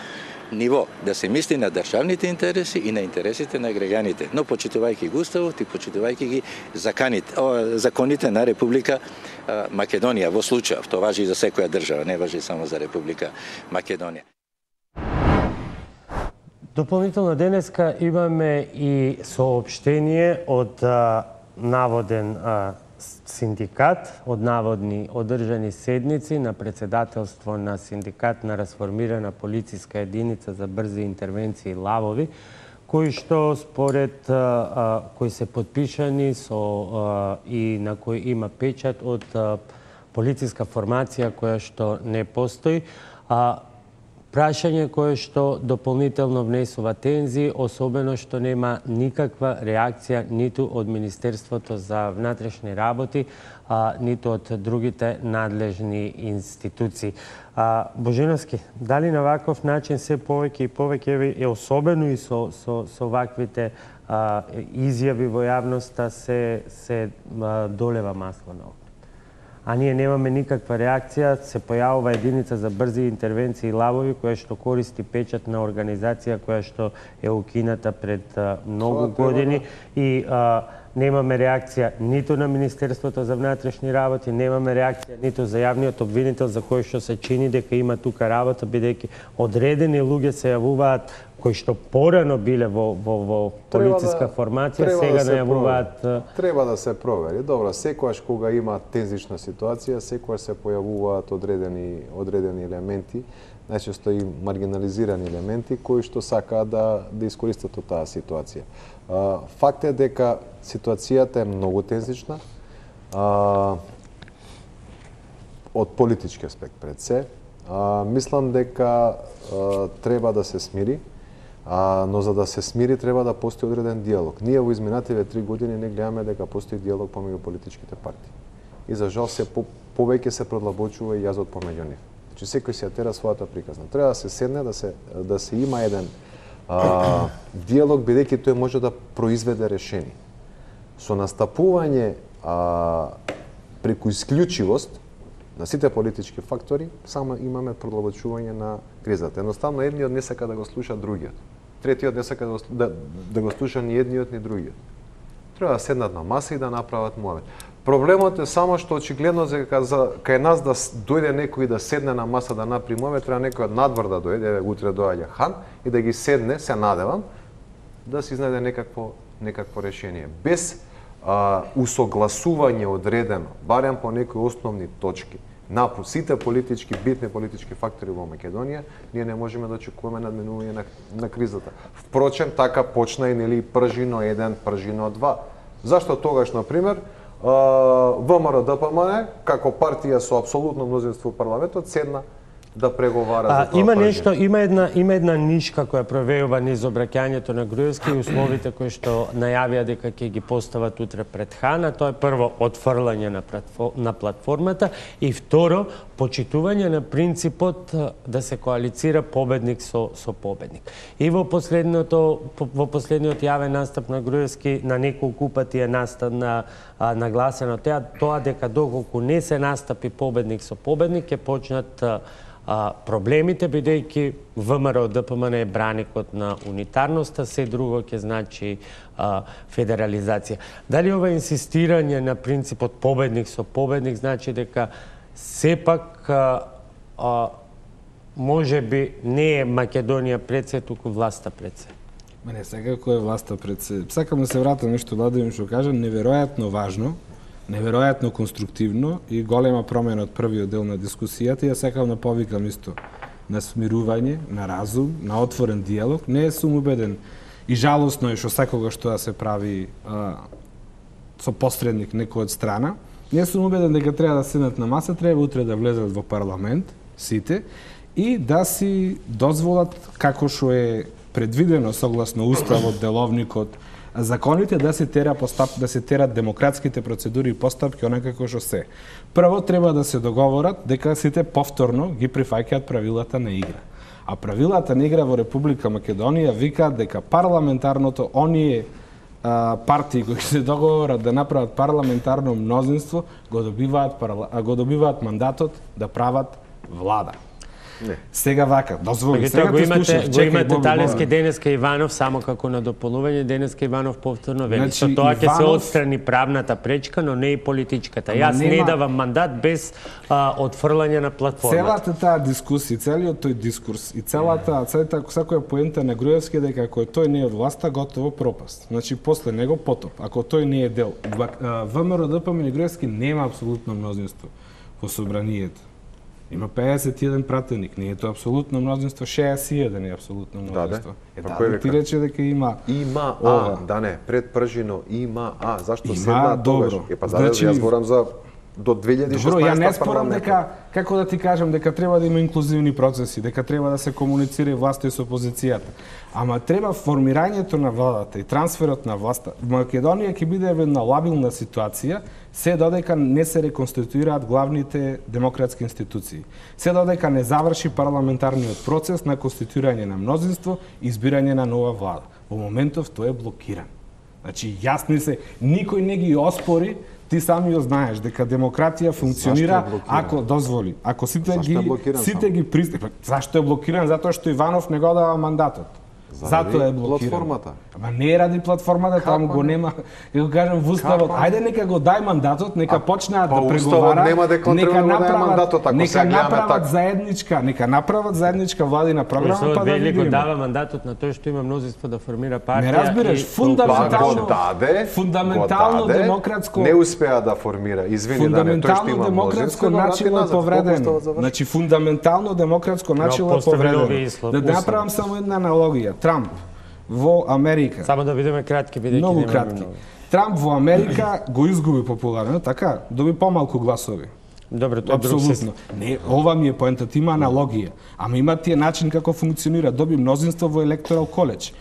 ниво, да се мисли на државните интереси и на интересите на граѓаните, но почитувајќи го Уставот и почитувајќи ги законите на Република Македонија во случајов. Тоа важи и за секоја држава, не важи само за Република Македонија. Дополнително денеска имаме и соопштение од наводен синдикат, од наводни одржани седници на председателство на синдикат на расформирана полициска единица за брзи интервенции Лавови, кои што според кои се подпишани со и на кои има печат од полициска формација која што не постои. Прашање кое што дополнително внесува тензии, особено што нема никаква реакција ниту од Министерството за внатрешни работи, ниту од другите надлежни институции. Божиновски, дали на ваков начин се повеќе и повеќе, особено и со ваквите изјави во јавноста, се долева масло на огнот? А ние немаме никаква реакција, се појавува единица за брзи интервенции Лавови, која што користи печат на организација која што е укината пред многу години и немаме реакција ниту на Министерството за внатрешни работи, немаме реакција ниту за јавниот обвинител за кој што се чини дека има тука работа, бидејќи одредени луѓе се јавуваат кои што порано биле во полициска формација, сега најавуваат... Треба да се провери. Добро, секојаш кога има тензична ситуација, секојаш се појавуваат одредени елементи, најчесто и маргинализирани елементи, кои што сакаат да искористат од таа ситуација. Факт е дека ситуацијата е многу тензична, од политички аспект пред се. Мислам дека треба да се смири, но за да се смири треба да постои одреден диалог. Ние во изминативе 3 години не гледаме дека постои диалог помеѓу политичките партии. И за жал се повеќе се продлабочува и јазот помеѓу нив. Значи секој се тера својата приказна. Треба да се седне, да се има еден диалог, бидејќи тој може да произведе решение. Со настапување преку исклучивост на сите политички фактори, само имаме продлабочување на кризата. Едноставно, едниот не сака да го слуша другиот. Третиот не сака да го слуша ни едниот ни другиот. Треба да седнат на маса и да направат муавет. Проблемот е само што очигледно кај нас да дојде некој да седне на маса да направи муавет, треба некој од надвор да дојде, утре доаѓа хан, и да ги седне, се надевам, да се изнајде некакво решение. Без усогласување одредено, барем по некои основни точки, на сите битни политички фактори во Македонија, ние не можеме да очекуваме надминување на кризата. Впрочем, така почна и пржино 1, пржино 2. Зашто тогаш, например, ВМРО-ДПМН, како партија со апсолутно мнозинство во парламентот, седна да преговара за тоа. Има една нишка која провеува низ обраќањето на Груевски и условите кои што најавија дека ќе ги постават утре пред Хана. Тоа е прво отфрлање на платформата и второ почитување на принципот да се коалицира победник со победник. И во последниот јавен настап на Груевски на неколку пати е нагласено тоа дека доколку не се настапи победник со победник ќе почнат проблемите, бидејќи ВМРО-ДПМН е браникот на унитарноста, се друго ќе значи федерализација. Дали ова инсистирање на принципот победник со победник значи дека сепак може би не е Македонија пред се, туку власта пред се? Не, секако е власта пред се. Сакам да се вратам нешто Владимир што кажа, неверојатно важно, неверојатно конструктивно и голема промена од првиот дел на дискусијата. Ја сакам да повикам исто на смирување, на разум, на отворен диалог. Не сум убеден и жалосно е што секогаш тоа се прави со посредник некој од страна. Не сум убеден дека треба да седнат на маса, треба утре да влезат во парламент сите и да си дозволат како што е предвидено согласно уставот, деловникот, законите да се терат демократските процедури и постапки онакако што се. Прво треба да се договорат дека сите повторно ги прифаќаат правилата на игра. А правилата на игра во Република Македонија викаат дека парламентарното оние партии кои се договорат да направат парламентарно мнозинство го добиваат мандатот да прават влада. Сега вака, дозволи. Сега го имате Талевски денеска Иванов само како на дополнување, денеска Иванов повторно вели. Со тоа ќе се отстрани правната пречка, но не и политичката. Јас не давам мандат без отфрлање на платформата. Целата таа дискусија, целиот тој дискурс и целата секоја поента на Груевски дека ако тој не е од власта, готово пропаст. Значи после него потоп. Ако тој не е дел, ВМРО ДПМН и Груевски нема апсолутно мнозинство во собранието. Има 51 пратеник, не е тоа апсолутно мнозинство, 61 е апсолутно мнозинство. Ти рече дека има да не, пред Пржино има зашто има, седна тогаш? Значи, јас зборам за до 2016 добро, ја не спорам дека, како да ти кажам, дека треба да има инклузивни процеси, дека треба да се комуницира и власта и со опозицијата. Ама треба формирањето на владата и трансферот на власта. Македонија ќе биде една лабилна ситуација, се додека не се реконституираат главните демократски институции. Се додека не заврши парламентарниот процес на конституирање на мнозинство и избирање на нова влада. Во моментов тој е блокиран. Значи, јасни се, никој не ги оспори. Ти сами ја знаеш дека демократија функционира ако дозволи. Ако сите ги пристапат. Зашто е блокиран? Затоа што Иванов не го дава мандатот. Затоа е блокиран. Платформата. Ама не е ради платформата, таму го нема. Ја го кажам во уставот, ајде нека го дај мандатот, нека почнеат да преговараат. Нема дека треба да дај мандатот, ако се гледаме така. Нека направат заедничка владина програма, па да видиме. Го дава мандатот на тој што има мнозинство да формира партија. Не разбираш, фундаментално демократско не успеа да формира. Извини, да не, тој што има демократско начело е повредено. Значи фундаментално демократско начело е повредено. Да направам само една аналогија. Трамп во Америка. Само да видиме кратки бидејќи многу кратки. Трамп во Америка го изгуби популарно, така, доби помалку гласови. Добро, тоа апсолутно. Не, ова ми е поентата, има аналогија. Ама има тие начин како функционира, доби мнозинство во електорал коледж.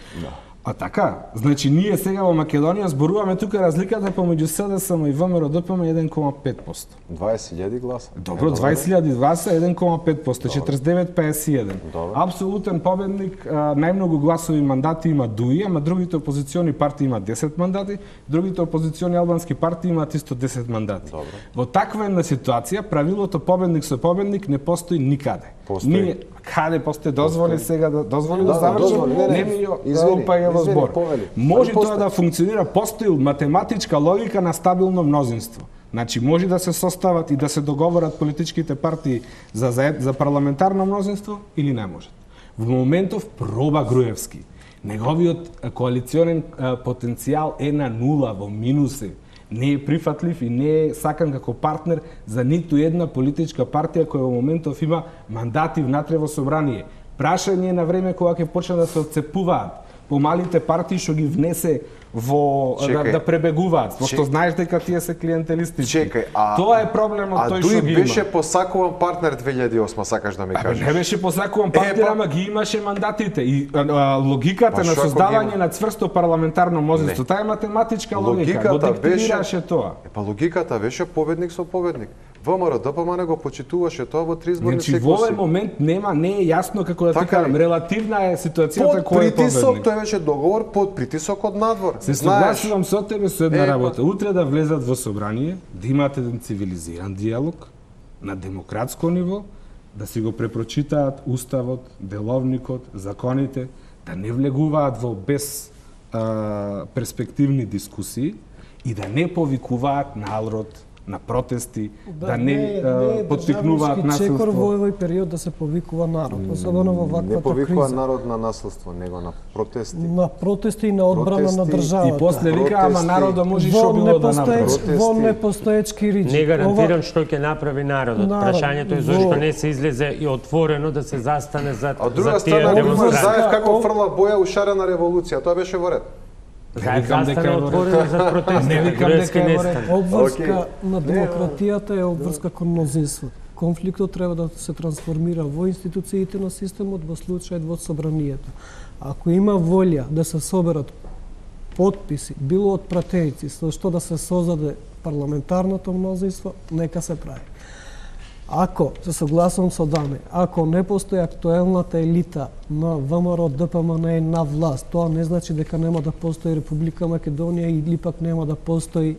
А така, значи ние сега во Македонија зборуваме тука разликата помеѓу СДСМ и ВМРО ДПМ 1,5%. 20.000 гласа. Добро, 20.000 гласа 1,5%, 49-51. Апсолутен победник, најмногу гласови мандати има ДУИ, ама другите опозициони партии имаат 10 мандати, другите опозициони албански партии имаат исто 10 мандати. Во таква една ситуација правилото победник со победник не постои никаде. Ние каде постои дозволи сега да завршам, не ми упаѓа во збор. Може тоа да функционира, постои математичка логика на стабилно мнозинство. Значи може да се состават и да се договорат политичките партии за парламентарно мнозинство или не можат. Во моментов проба Груевски. Неговиот коалиционен потенцијал е на нула, во минуси. Не е прифатлив и не е сакан како партнер за ниту една политичка партија која во моментов има мандати внатре во собрание. Прашање на време кога ќе почнат да се отцепуваат помалите партии што ги внесе во да пребегуваат, пошто знаеш дека тие се клиентелистички. Тоа е проблемот тој што ги има. Дуј беше посакуван партнер 2008, сакаш да ми кажеш. Не беше посакуван партнер, ама ги имаше мандатите и логиката на создавање на цврсто парламентарно мнозинство, таа е математичка логика, го диктираше тоа. Па логиката беше победник со победник. ВМРО ДПМН го почитуваше тоа во 3 изборни циклуси. Во овој момент не е јасно како да ти кажам, релативна е ситуацијата кој е победник. Под притисок тој беше договор под притисок од надвор. Се согласувам со тебе со една работа. Утре да влезат во собрание, да имаат еден цивилизиран диалог на демократско ниво, да си го препрочитаат уставот, деловникот, законите, да не влегуваат во без перспективни дискусии и да не повикуваат народ на протести, да не поттикнуваат насилство. Чекор во овој период да се повикува народ, особено во ваквата криза. Не повикува народ на насилство, него на протести. На протести и на одбрана на државата. И после вика, ама народот може што било да направи. Во непостоечки ричи. Не гарантирам што ќе направи народот. Прашањето е зашто не се излезе и отворено да се застане за тие демонстрации. Заев како фрла боја у шарена револуција, тоа беше во ред. Не викам дека е отворено за протести. Не викам дека е во ред. Обврска на демократијата е обврска кон мнозинство. Конфликтот треба да се трансформира во институциите на системот, во случајот во собранието. Ако има волја да се соберат потписи, било од пратеници, со што да се создаде парламентарното мнозинство, нека се прави. Ако, се согласувам со Дане, ако не постои актуелната елита на ВМРО ДПМН на власт, тоа не значи дека нема да постои Република Македонија или пак нема да постои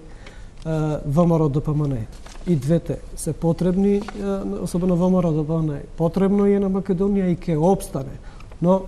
ВМРО ДПМН. И двете се потребни, особено ВМРО-ДПМНЕ. Потребно е на Македонија и ќе обстане. Но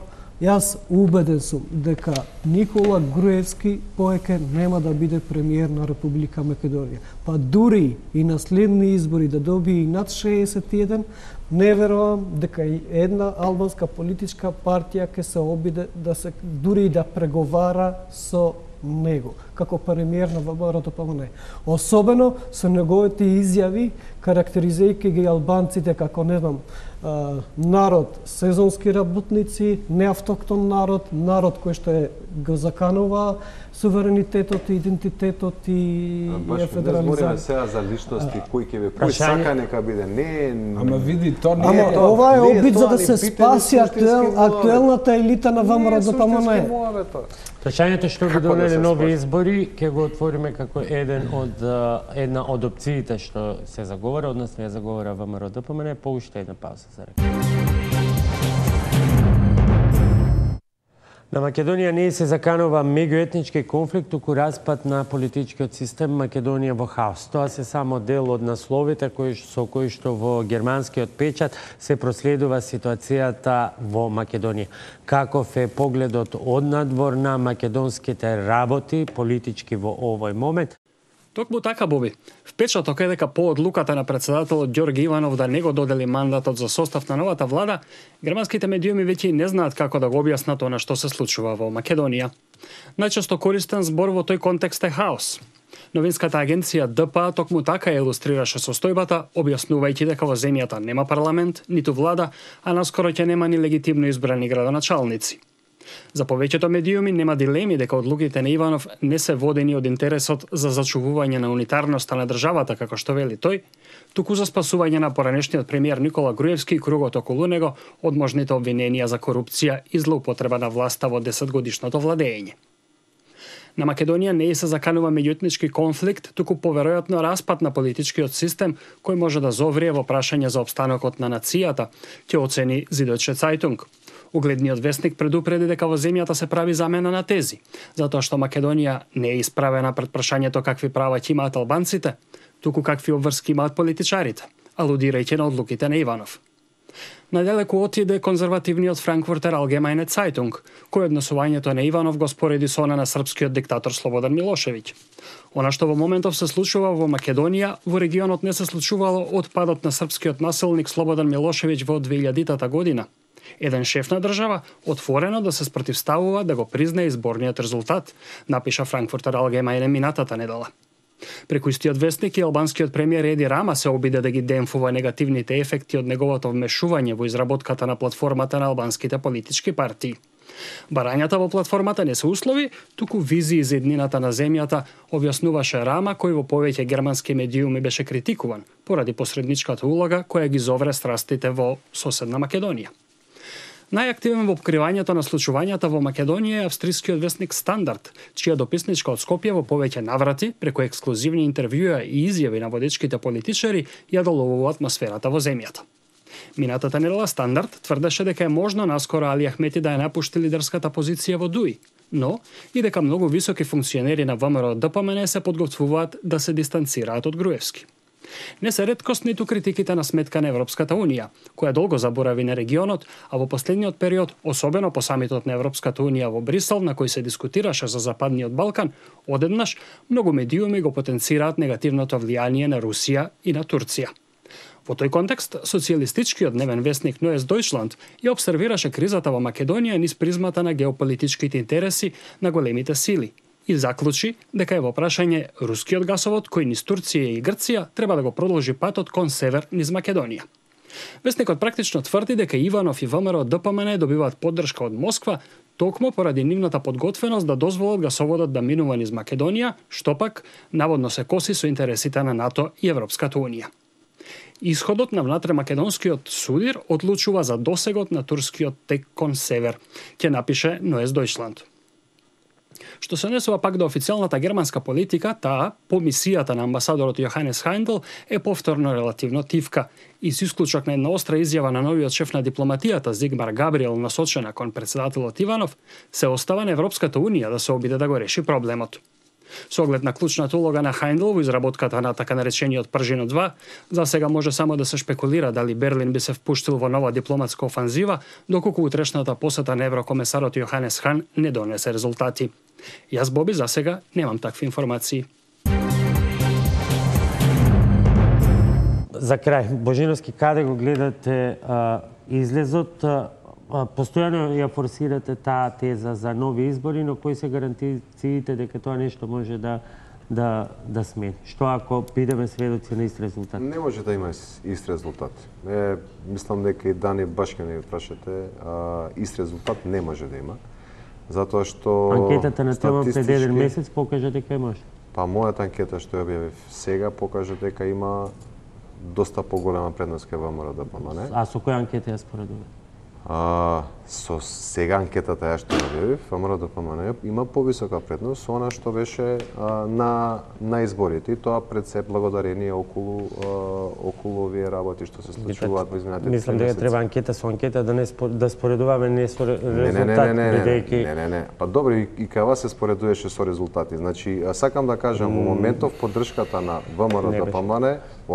јас убеден сум дека Никола Груевски повеќе нема да биде премиер на Република Македонија. Па дури и на следни избори да добие и над 61, не верувам дека и една албанска политичка партија ќе се обиде да се дури и да преговара со него како премиер на ВМРО-ДПМНЕ. Особено со неговите изјави карактеризирајќи ги албанците како не знам народ сезонски работници, неавтоктон народ, народ кој што го заканува суверенитетот и идентитетот и федерализација. Не збориме сега за личности кој ќе кој сака нека биде. Не. Ама види, то не е. Ама ова е обид за да се спаси актуелната елита на ВМРО-ДПМНЕ. Прашањето што ги донеле нови избори ќе го отвориме како една од опциите што се заговара, односно ја заговара ВМРО-ДПМНЕ, по уште една пауза за реклама. На Македонија не се заканува меѓуетнички конфликт, туку распад на политичкиот систем Македонија во хаос. Тоа се само дел од насловите со кои што во германскиот печат се проследува ситуацијата во Македонија. Каков е погледот од надвор на македонските работи политички во овој момент? Токму така, Боби. Впечаток е дека по одлуката на председателот Ѓорги Иванов да не го додели мандатот за состав на новата влада, германските медиуми веќе не знаат како да го објаснат она што се случува во Македонија. Најчесто користен збор во тој контекст е хаос. Новинската агенција ДПА токму така илустрираше состојбата, објаснувајќи дека во земјата нема парламент, ниту влада, а наскоро ќе нема ни легитимно избрани градоначалници. За повеќето медиуми нема дилеми дека одлуките на Иванов не се водени од интересот за зачувување на унитарноста на државата, како што вели тој, туку за спасување на поранешниот премиер Никола Груевски и кругот околу него од можните обвиненија за корупција и злоупотреба на власта во 10-годишното владење. На Македонија не се заканува меѓуетнички конфликт, туку поверојатно распад на политичкиот систем кој може да зоврие во прашање за опстанокот на нацијата, ќе оцени Süddeutsche Zeitung. Угледниот вестник предупреди дека во земјата се прави замена на тези, затоа што Македонија не е исправена пред прашањето какви права ќе имаат албанците, туку какви обврски имаат политичарите, алудирајќи на одлуките на Иванов. Најдалеку отиде конзервативниот Frankfurter Allgemeine Zeitung, кој однесувањето на Иванов го спореди со она на српскиот диктатор Слободан Милошевиќ. Она што во моментов се случува во Македонија, во регионот не се случувало од падот на српскиот насилник Слободан Милошевиќ во 2000 година. Еден шеф на држава отворено да се спротивставува да го признае изборниот резултат, напиша Frankfurter Allgemeine минатата недела. Преку истиот вестник и албанскиот премиер Еди Рама се обиде да ги демфува негативните ефекти од неговото вмешување во изработката на платформата на албанските политички партии. Барањата во платформата не се услови, туку визии за еднината на земјата, објаснуваше Рама, кој во повеќе германски медиуми беше критикуван поради посредничката улога која ги зовре страстите во соседна Македонија. Најактивен во откривањето на случувањата во Македонија е австрискиот вестник Стандард, чија дописничка од Скопје во повеќе наврати, преку ексклузивни интервјуа и изјави на водечките политичари, ја доловува атмосферата во земјата. Минатата недела Стандард тврдеше дека е можно наскоро Али Ахмети да ја напушти лидерската позиција во ДУИ, но и дека многу високи функционери на ВМРО-ДПМНЕ се подготвуваат да се дистанцираат од Груевски. Не се реткост ниту критиките на сметка на Европската Унија, која долго заборави на регионот, а во последниот период, особено по самитот на Европската Унија во Брисел, на кој се дискутираше за Западниот Балкан, одеднаш многу медиуми го потенцираат негативното влијание на Русија и на Турција. Во тој контекст, социјалистичкиот дневен вестник Neues Deutschland ја обсервираше кризата во Македонија низ призмата на геополитичките интереси на големите сили и заклучи дека е во прашање рускиот гасовод кој низ Турција и Грција треба да го продолжи патот кон север низ Македонија. Вестникот практично тврди дека Иванов и ВМРО-ДПМНЕ добиваат поддршка од Москва токму поради нивната подготвеност да дозволат гасоводот да минува низ Македонија, што пак наводно се коси со интересите на НАТО и Европската Унија. Исходот на внатремакедонскиот судир одлучува за досегот на турскиот тек кон север, ќе напише Neues Deutschland. Што се однесува пак до официјалната германска политика, таа, по мисијата на амбасадорот Јоханес Хайндел, е повторно релативно тивка. И со исклучок на една остра изјава на новиот шеф на дипломатијата Зигмар Габриел насочена кон председателот Иванов, се остава на Европската Унија да се обиде да го реши проблемот. Со оглед на клучната улога на Хајндл во изработката на така наречениот Пржино 2, за сега може само да се шпекулира дали Берлин би се впуштил во нова дипломатска офанзива, доколку утрешната посета на еврокомесарот Јоханес Хан не донесе резултати. Јас, Боби, за сега немам такви информации. За крај, Божиновски, каде го гледате излезот? Постојано ја форсирате таа теза за нови избори, но кои се гаранциите дека тоа нешто може да смени? Што ако бидеме сведоци на ист резултат? Не може да има ист резултат. Мислам дека и Дани баш ке не прашате, ист резултат не може да има. Затоа што анкетата на тема пред еден месец покажа дека може. Па мојата анкета што ја објавив сега покажа дека има доста поголема предност кај ВМРО-ДПМНЕ. А со која анкета ја споредувате? Со сега анкетата ја што објавив, ВМРО-ДПМНЕ има повисока предност со она што беше на изборите, и тоа пред се благодарение околу овие работи што се случуваат во изминатите 3 месеци. Мислам дека треба анкета со анкета да споредуваме не со резултати, бидејќи Не. Па добро, и кај вас се споредуваше со резултати. Значи, сакам да кажам, во моментов поддршката на ВМРО-ДПМНЕ, во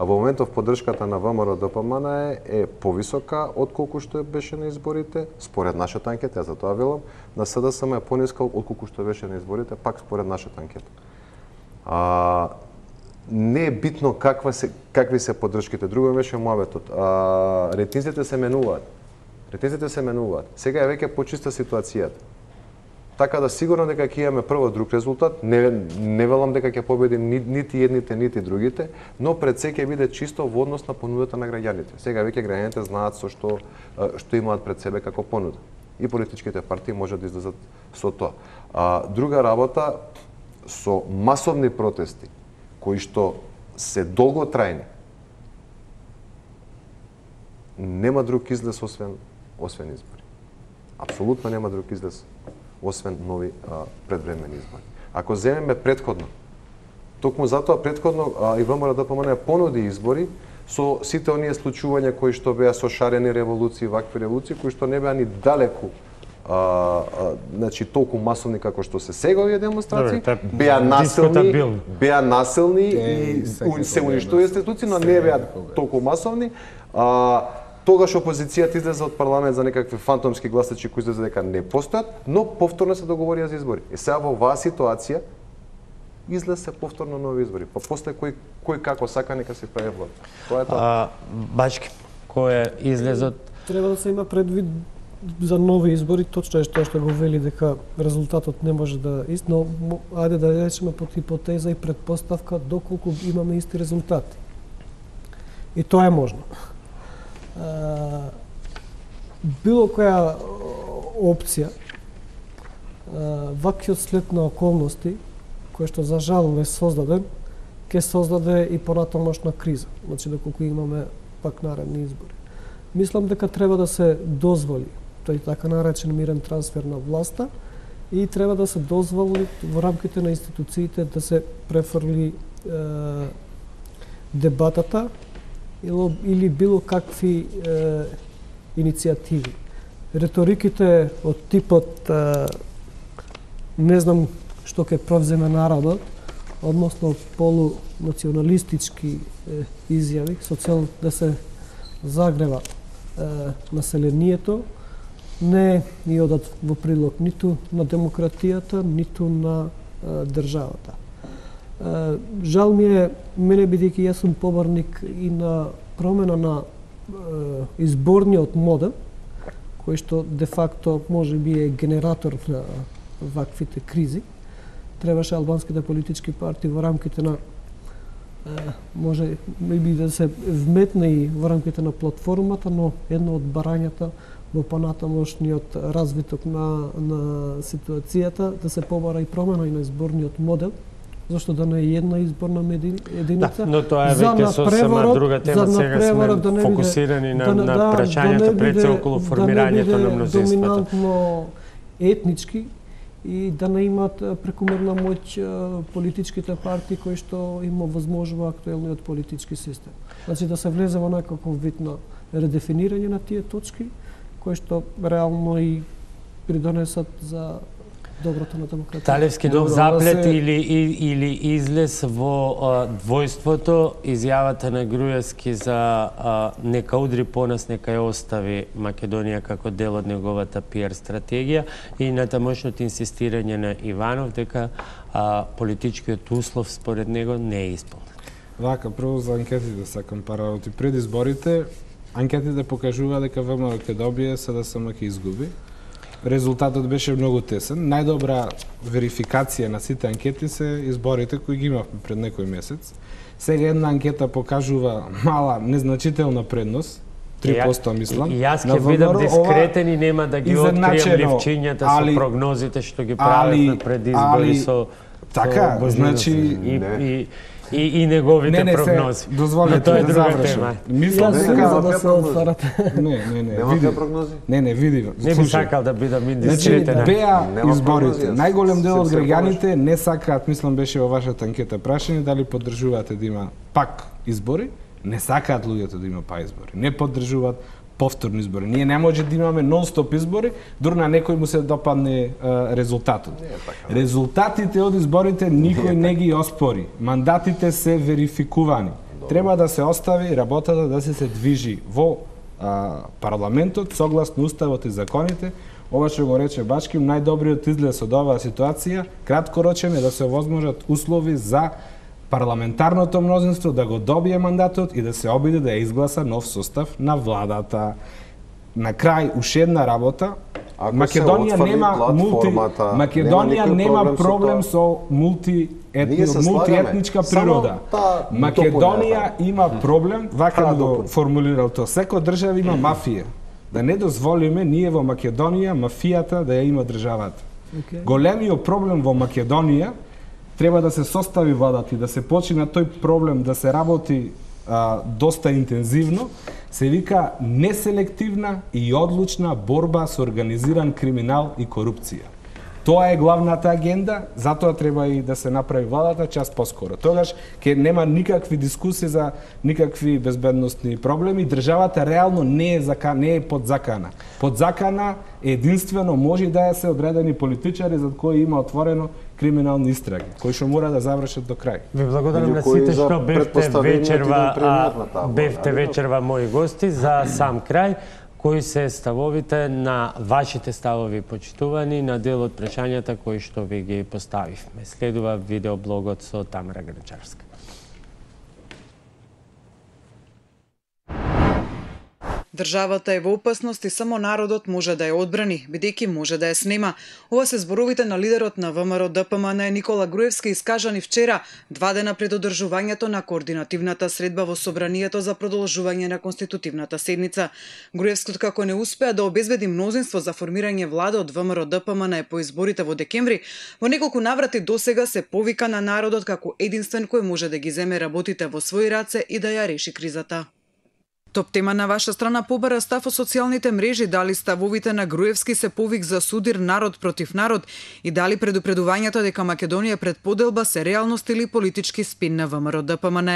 моментов поддршката на ВМРО-ДПМНЕ е повисока отколку што беше на изборите, според нашата анкета, за тоа велам, на СДСМ е пониска отколку што беше на изборите, пак според нашата анкета. Не е битно какви се поддршките, друго беше муабетот. Рейтинзите се менуваат. Сега е веќе почиста ситуацијата. Така да сигурно дека ќе имаме прво друг резултат, не велам дека ќе победим нити едните, нити другите, но пред се ќе биде чисто во однос на понудата на граѓаните. Сега веќе граѓаните знаат што имаат пред себе како понуда. И политичките партии можат да излезат со тоа. Друга работа, со масовни протести, кои што се долготрајни, нема друг излез освен избори. Апсолутно нема друг излез освен нови предвремени избори. Ако земеме претходно, токму затоа претходно и ВМРО-ДПМНЕ понуди избори со сите оние случувања кои што беа со шарени револуции, вакви револуции, кои што не беа ни далеку значи толку масовни како што се сега овие демонстрации, беа насилни и се уништуваат институции, но не беа толку масовни. Тогаш опозицијата излезе од парламент за некакви фантомски гласачи кои излезе дека не постојат, но повторно се договорија за избори. И сега во оваа ситуација излезе повторно нови избори. Па после кој како сака нека се прави влада. Тоа е тоа. Бачки, кој е излезот? Треба да се има предвид за нови избори, точно е тоа што го вели дека резултатот не може да ист, но ајде да речеме под хипотеза и предпоставка доколку имаме исти резултати. И тоа е можно. Било која опција, ваквиот след на околности, кој што за жал не создаден, ќе создаде и понатамошна криза, значи доколку имаме пак наредни избори. Мислам дека треба да се дозволи тој така наречен мирен трансфер на власта и треба да се дозволи во рамките на институциите да се префрли дебатата или било какви иницијативи. Реториките од типот не знам што ќе превземе народот, односно полунационалистички изјави со цел да се загрева населението, не ни одат во прилог ниту на демократијата, ниту на државата. Жал ми е, мене бидејќи јас сум поборник и на промена на изборниот модел, кој што де факто може би е генератор на ваквите кризи, требаше албанските политички партии во рамките на може би да се вметне и во рамките на платформата, но едно од барањата во понатамошниот развиток на ситуацијата да се побара и промена и на изборниот модел, зашто да не е една изборна единица. Но тоа е веќе сосема друга тема, сега сме фокусирани на прашањето пред се околу формирањето на мнозинството. Доминантно етнички и да не имат прекумерна моќ политичките партии кои што им овозможува актуелниот политички систем. Значи да се влезе во некаков вид на редефинирање на тие точки, кои што реално и придонесат за доброто на демократија. Талевски нов заплет или излез во двојството, изјавата на Груевски за нека удри по нас, нека ја остави Македонија како дел од неговата пиар стратегија и на тамошното инсистирање на Иванов дека политичкиот услов според него не е исполнет. Вака, прво за анкетите сакам пара работи. Пред изборите, анкетите покажува дека ВМРО ќе добие, СДСМ ќе изгуби. Резултатот беше многу тесен. Најдобра верификација на сите анкети се изборите кои ги имавме пред некој месец. Сега една анкета покажува мала, незначителна предност, 3% мислам. И јас ќе бидам дискретен и нема да ги открием ливчињата со прогнозите што ги прават пред избори со така, значи и неговите прогнози. Дозволете да завршам. Мислам дека да се отварате. Нема прогнози? Не, види. Не би сакал да бидам индискретен. Значи, беа изборите. Најголем дел од граѓаните не сакаат, мислам беше во вашата анкета прашање, дали поддржувате да има пак избори. Не сакаат луѓето да има пак избори. Не поддржуваат повторни избори. Ние не може да имаме нон-стоп избори, дури на некој му се допадне резултатот. Резултатите од изборите никој не ги оспори. Мандатите се верификувани. Треба да се остави работата да се движи во парламентот согласно уставот и законите. Ова што го рече Бачким, најдобриот излез од оваа ситуација краткорочен е да се овозможат услови за парламентарното мнозинство да го добие мандатот и да се обиде да ја изгласа нов состав на владата. На крај, уште една работа, Македонија нема проблем со мултиетничка природа. Македонија има проблем, вака да го формулирал тоа, секоја држава има мафија. Да не дозволиме ние во Македонија мафијата да ја има државата. Големиот проблем во Македонија треба да се состави владата и да се почне на тој проблем да се работи доста интензивно, се вика неселективна и одлучна борба со организиран криминал и корупција. Тоа е главната агенда, затоа треба и да се направи владата час поскоро. Тогаш ќе нема никакви дискусии за никакви безбедностни проблеми. Државата реално не е под закана. Под закана единствено може да се одредени политичари за кои има отворено криминални истраги, кои што мора да завршат до крај. Ви благодарам на сите што бевте вечерва мои гости. За сам крај, кои се ставовите на вашите ставови почитувани на дел од прашањата кои што ви ги поставивме? Следува видеоблогот со Тамара Грачарска. Државата е во опасност и само народот може да ја одбрани, бидејќи може да ја снема. Ова се зборовите на лидерот на ВМРО ДПМН Никола Груевски искажани вчера, 2 дена пред одржувањето на координативната средба во Собранието за продолжување на конститутивната седница. Груевски, како не успеа да обезбеди мнозинство за формирање влада од ВМРО ДПМН по изборите во декември, во неколку наврати досега се повика на народот како единствен кој може да ги земе работите во своји раце и да ја реши кризата. Топ тема на ваша страна побара став во социјалните мрежи, дали ставовите на Груевски се повик за судир народ против народ и дали предупредувањето дека Македонија пред поделба се реалност или политички спин на ВМРО ДПМН.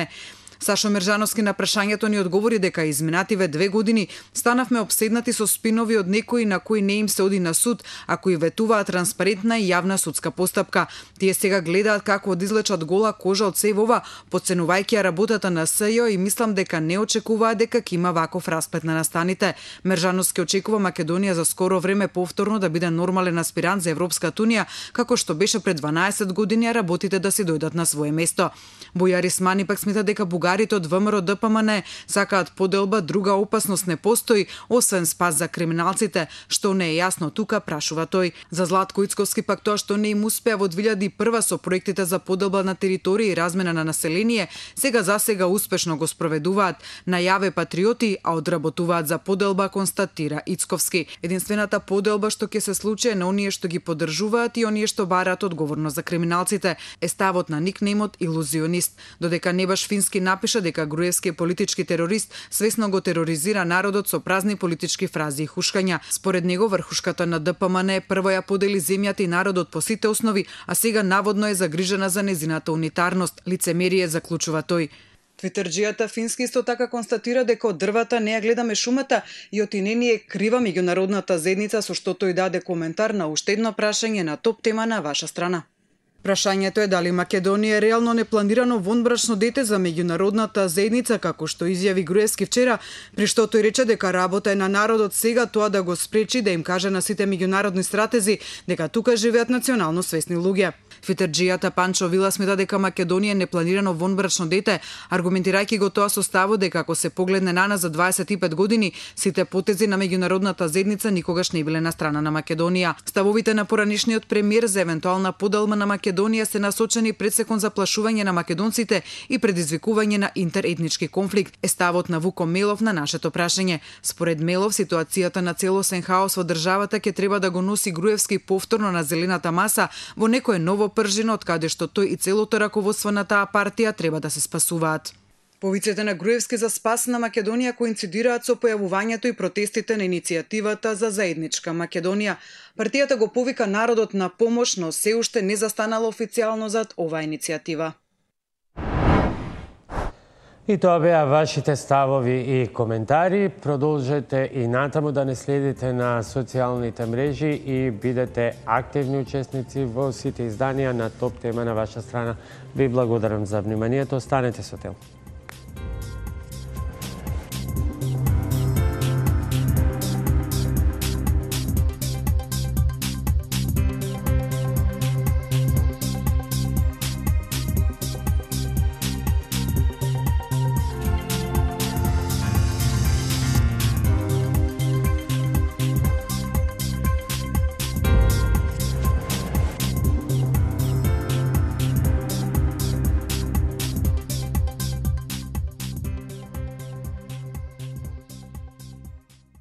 Сашо Мержановски на прашањето ни одговори дека изминативе 2 години станавме обседнати со спинови од некои на кои не им се оди на суд, а кои ветуваат транспарентна и јавна судска постапка. Тие сега гледаат како да излечат гола кожа од сев ова, подценувајќи ја работата на СЈО и мислам дека не очекуваат дека ќе има ваков расплет на настаните. Мержановски очекува Македонија за скоро време повторно да биде нормален аспирант за Европската унија, како што беше пред 12 години, а работите да се дојдат на свое место. Бојар Исмани пак смета дека бугарите од ВМРО ДПМН сакаат поделба, друга опасност не постои, освен спас за криминалците, што не е јасно тука, прашува тој. За Златко Ицковски пак тоа што не им успеа во 2001 со проектите за поделба на територија и размена на население, сега успешно го спроведуваат. Најаве патриоти, а одработуваат за поделба, констатира Ицковски. Единствената поделба што ќе се случи е на оние што ги поддржуваат и оние што бараат одговорност за криминалците, е ставот на никнеймот илузионист. Додека не баш Фински напиша дека Груевски е политички терорист, свесно го тероризира народот со празни политички фрази и хушкања. Според него врхушката на ДПМН прво ја подели земјата и народот по сите основи, а сега наводно е загрижена за незината унитарност. Лицемерие, заклучува тој. Твитерџијата фински исто така констатира дека од дрвата не ја гледаме шумата и отине ни е крива меѓународната заедница, со што тој даде коментар на уште едно прашање на топ тема на ваша страна. Прашањето е дали Македонија е реално непланирано вонбрачно дете за меѓународната заедница, како што изјави Груевски вчера, при што тој рече дека работа е на народот сега тоа да го спречи, да им каже на сите меѓународни стратези дека тука живеат национално свесни луѓе. Твитерџијата Панчо Вила смета дека Македонија е непланирано вонбрачно дете, аргументирајќи го тоа со ставот дека ако се погледне на нас за 25 години, сите потези на меѓународната заедница никогаш не биле на страна на Македонија. Ставовите на поранишниот премиер за евентуална подалма на Македонија се насочени пред се кон заплашување на македонците и предизвикување на интеретнички конфликт, е ставот на Вуко Мелов на нашето прашање. Според Мелов, ситуацијата на целосен хаос во државата ќе треба да го носи Груевски повторно на зелената маса во некое ново пржино, од каде што тој и целото раководство на таа партија треба да се спасуваат. Повиците на Груевски за спас на Македонија коинцидираат со појавувањето и протестите на иницијативата за заедничка Македонија. Партијата го повика народот на помош, но се уште не застанала официјално зад оваа иницијатива. И тоа беа вашите ставови и коментари. Продолжете и натаму да не следите на социјалните мрежи и бидете активни учесници во сите изданија на топ тема на ваша страна. Ви благодарам за вниманието. Останете со Тел.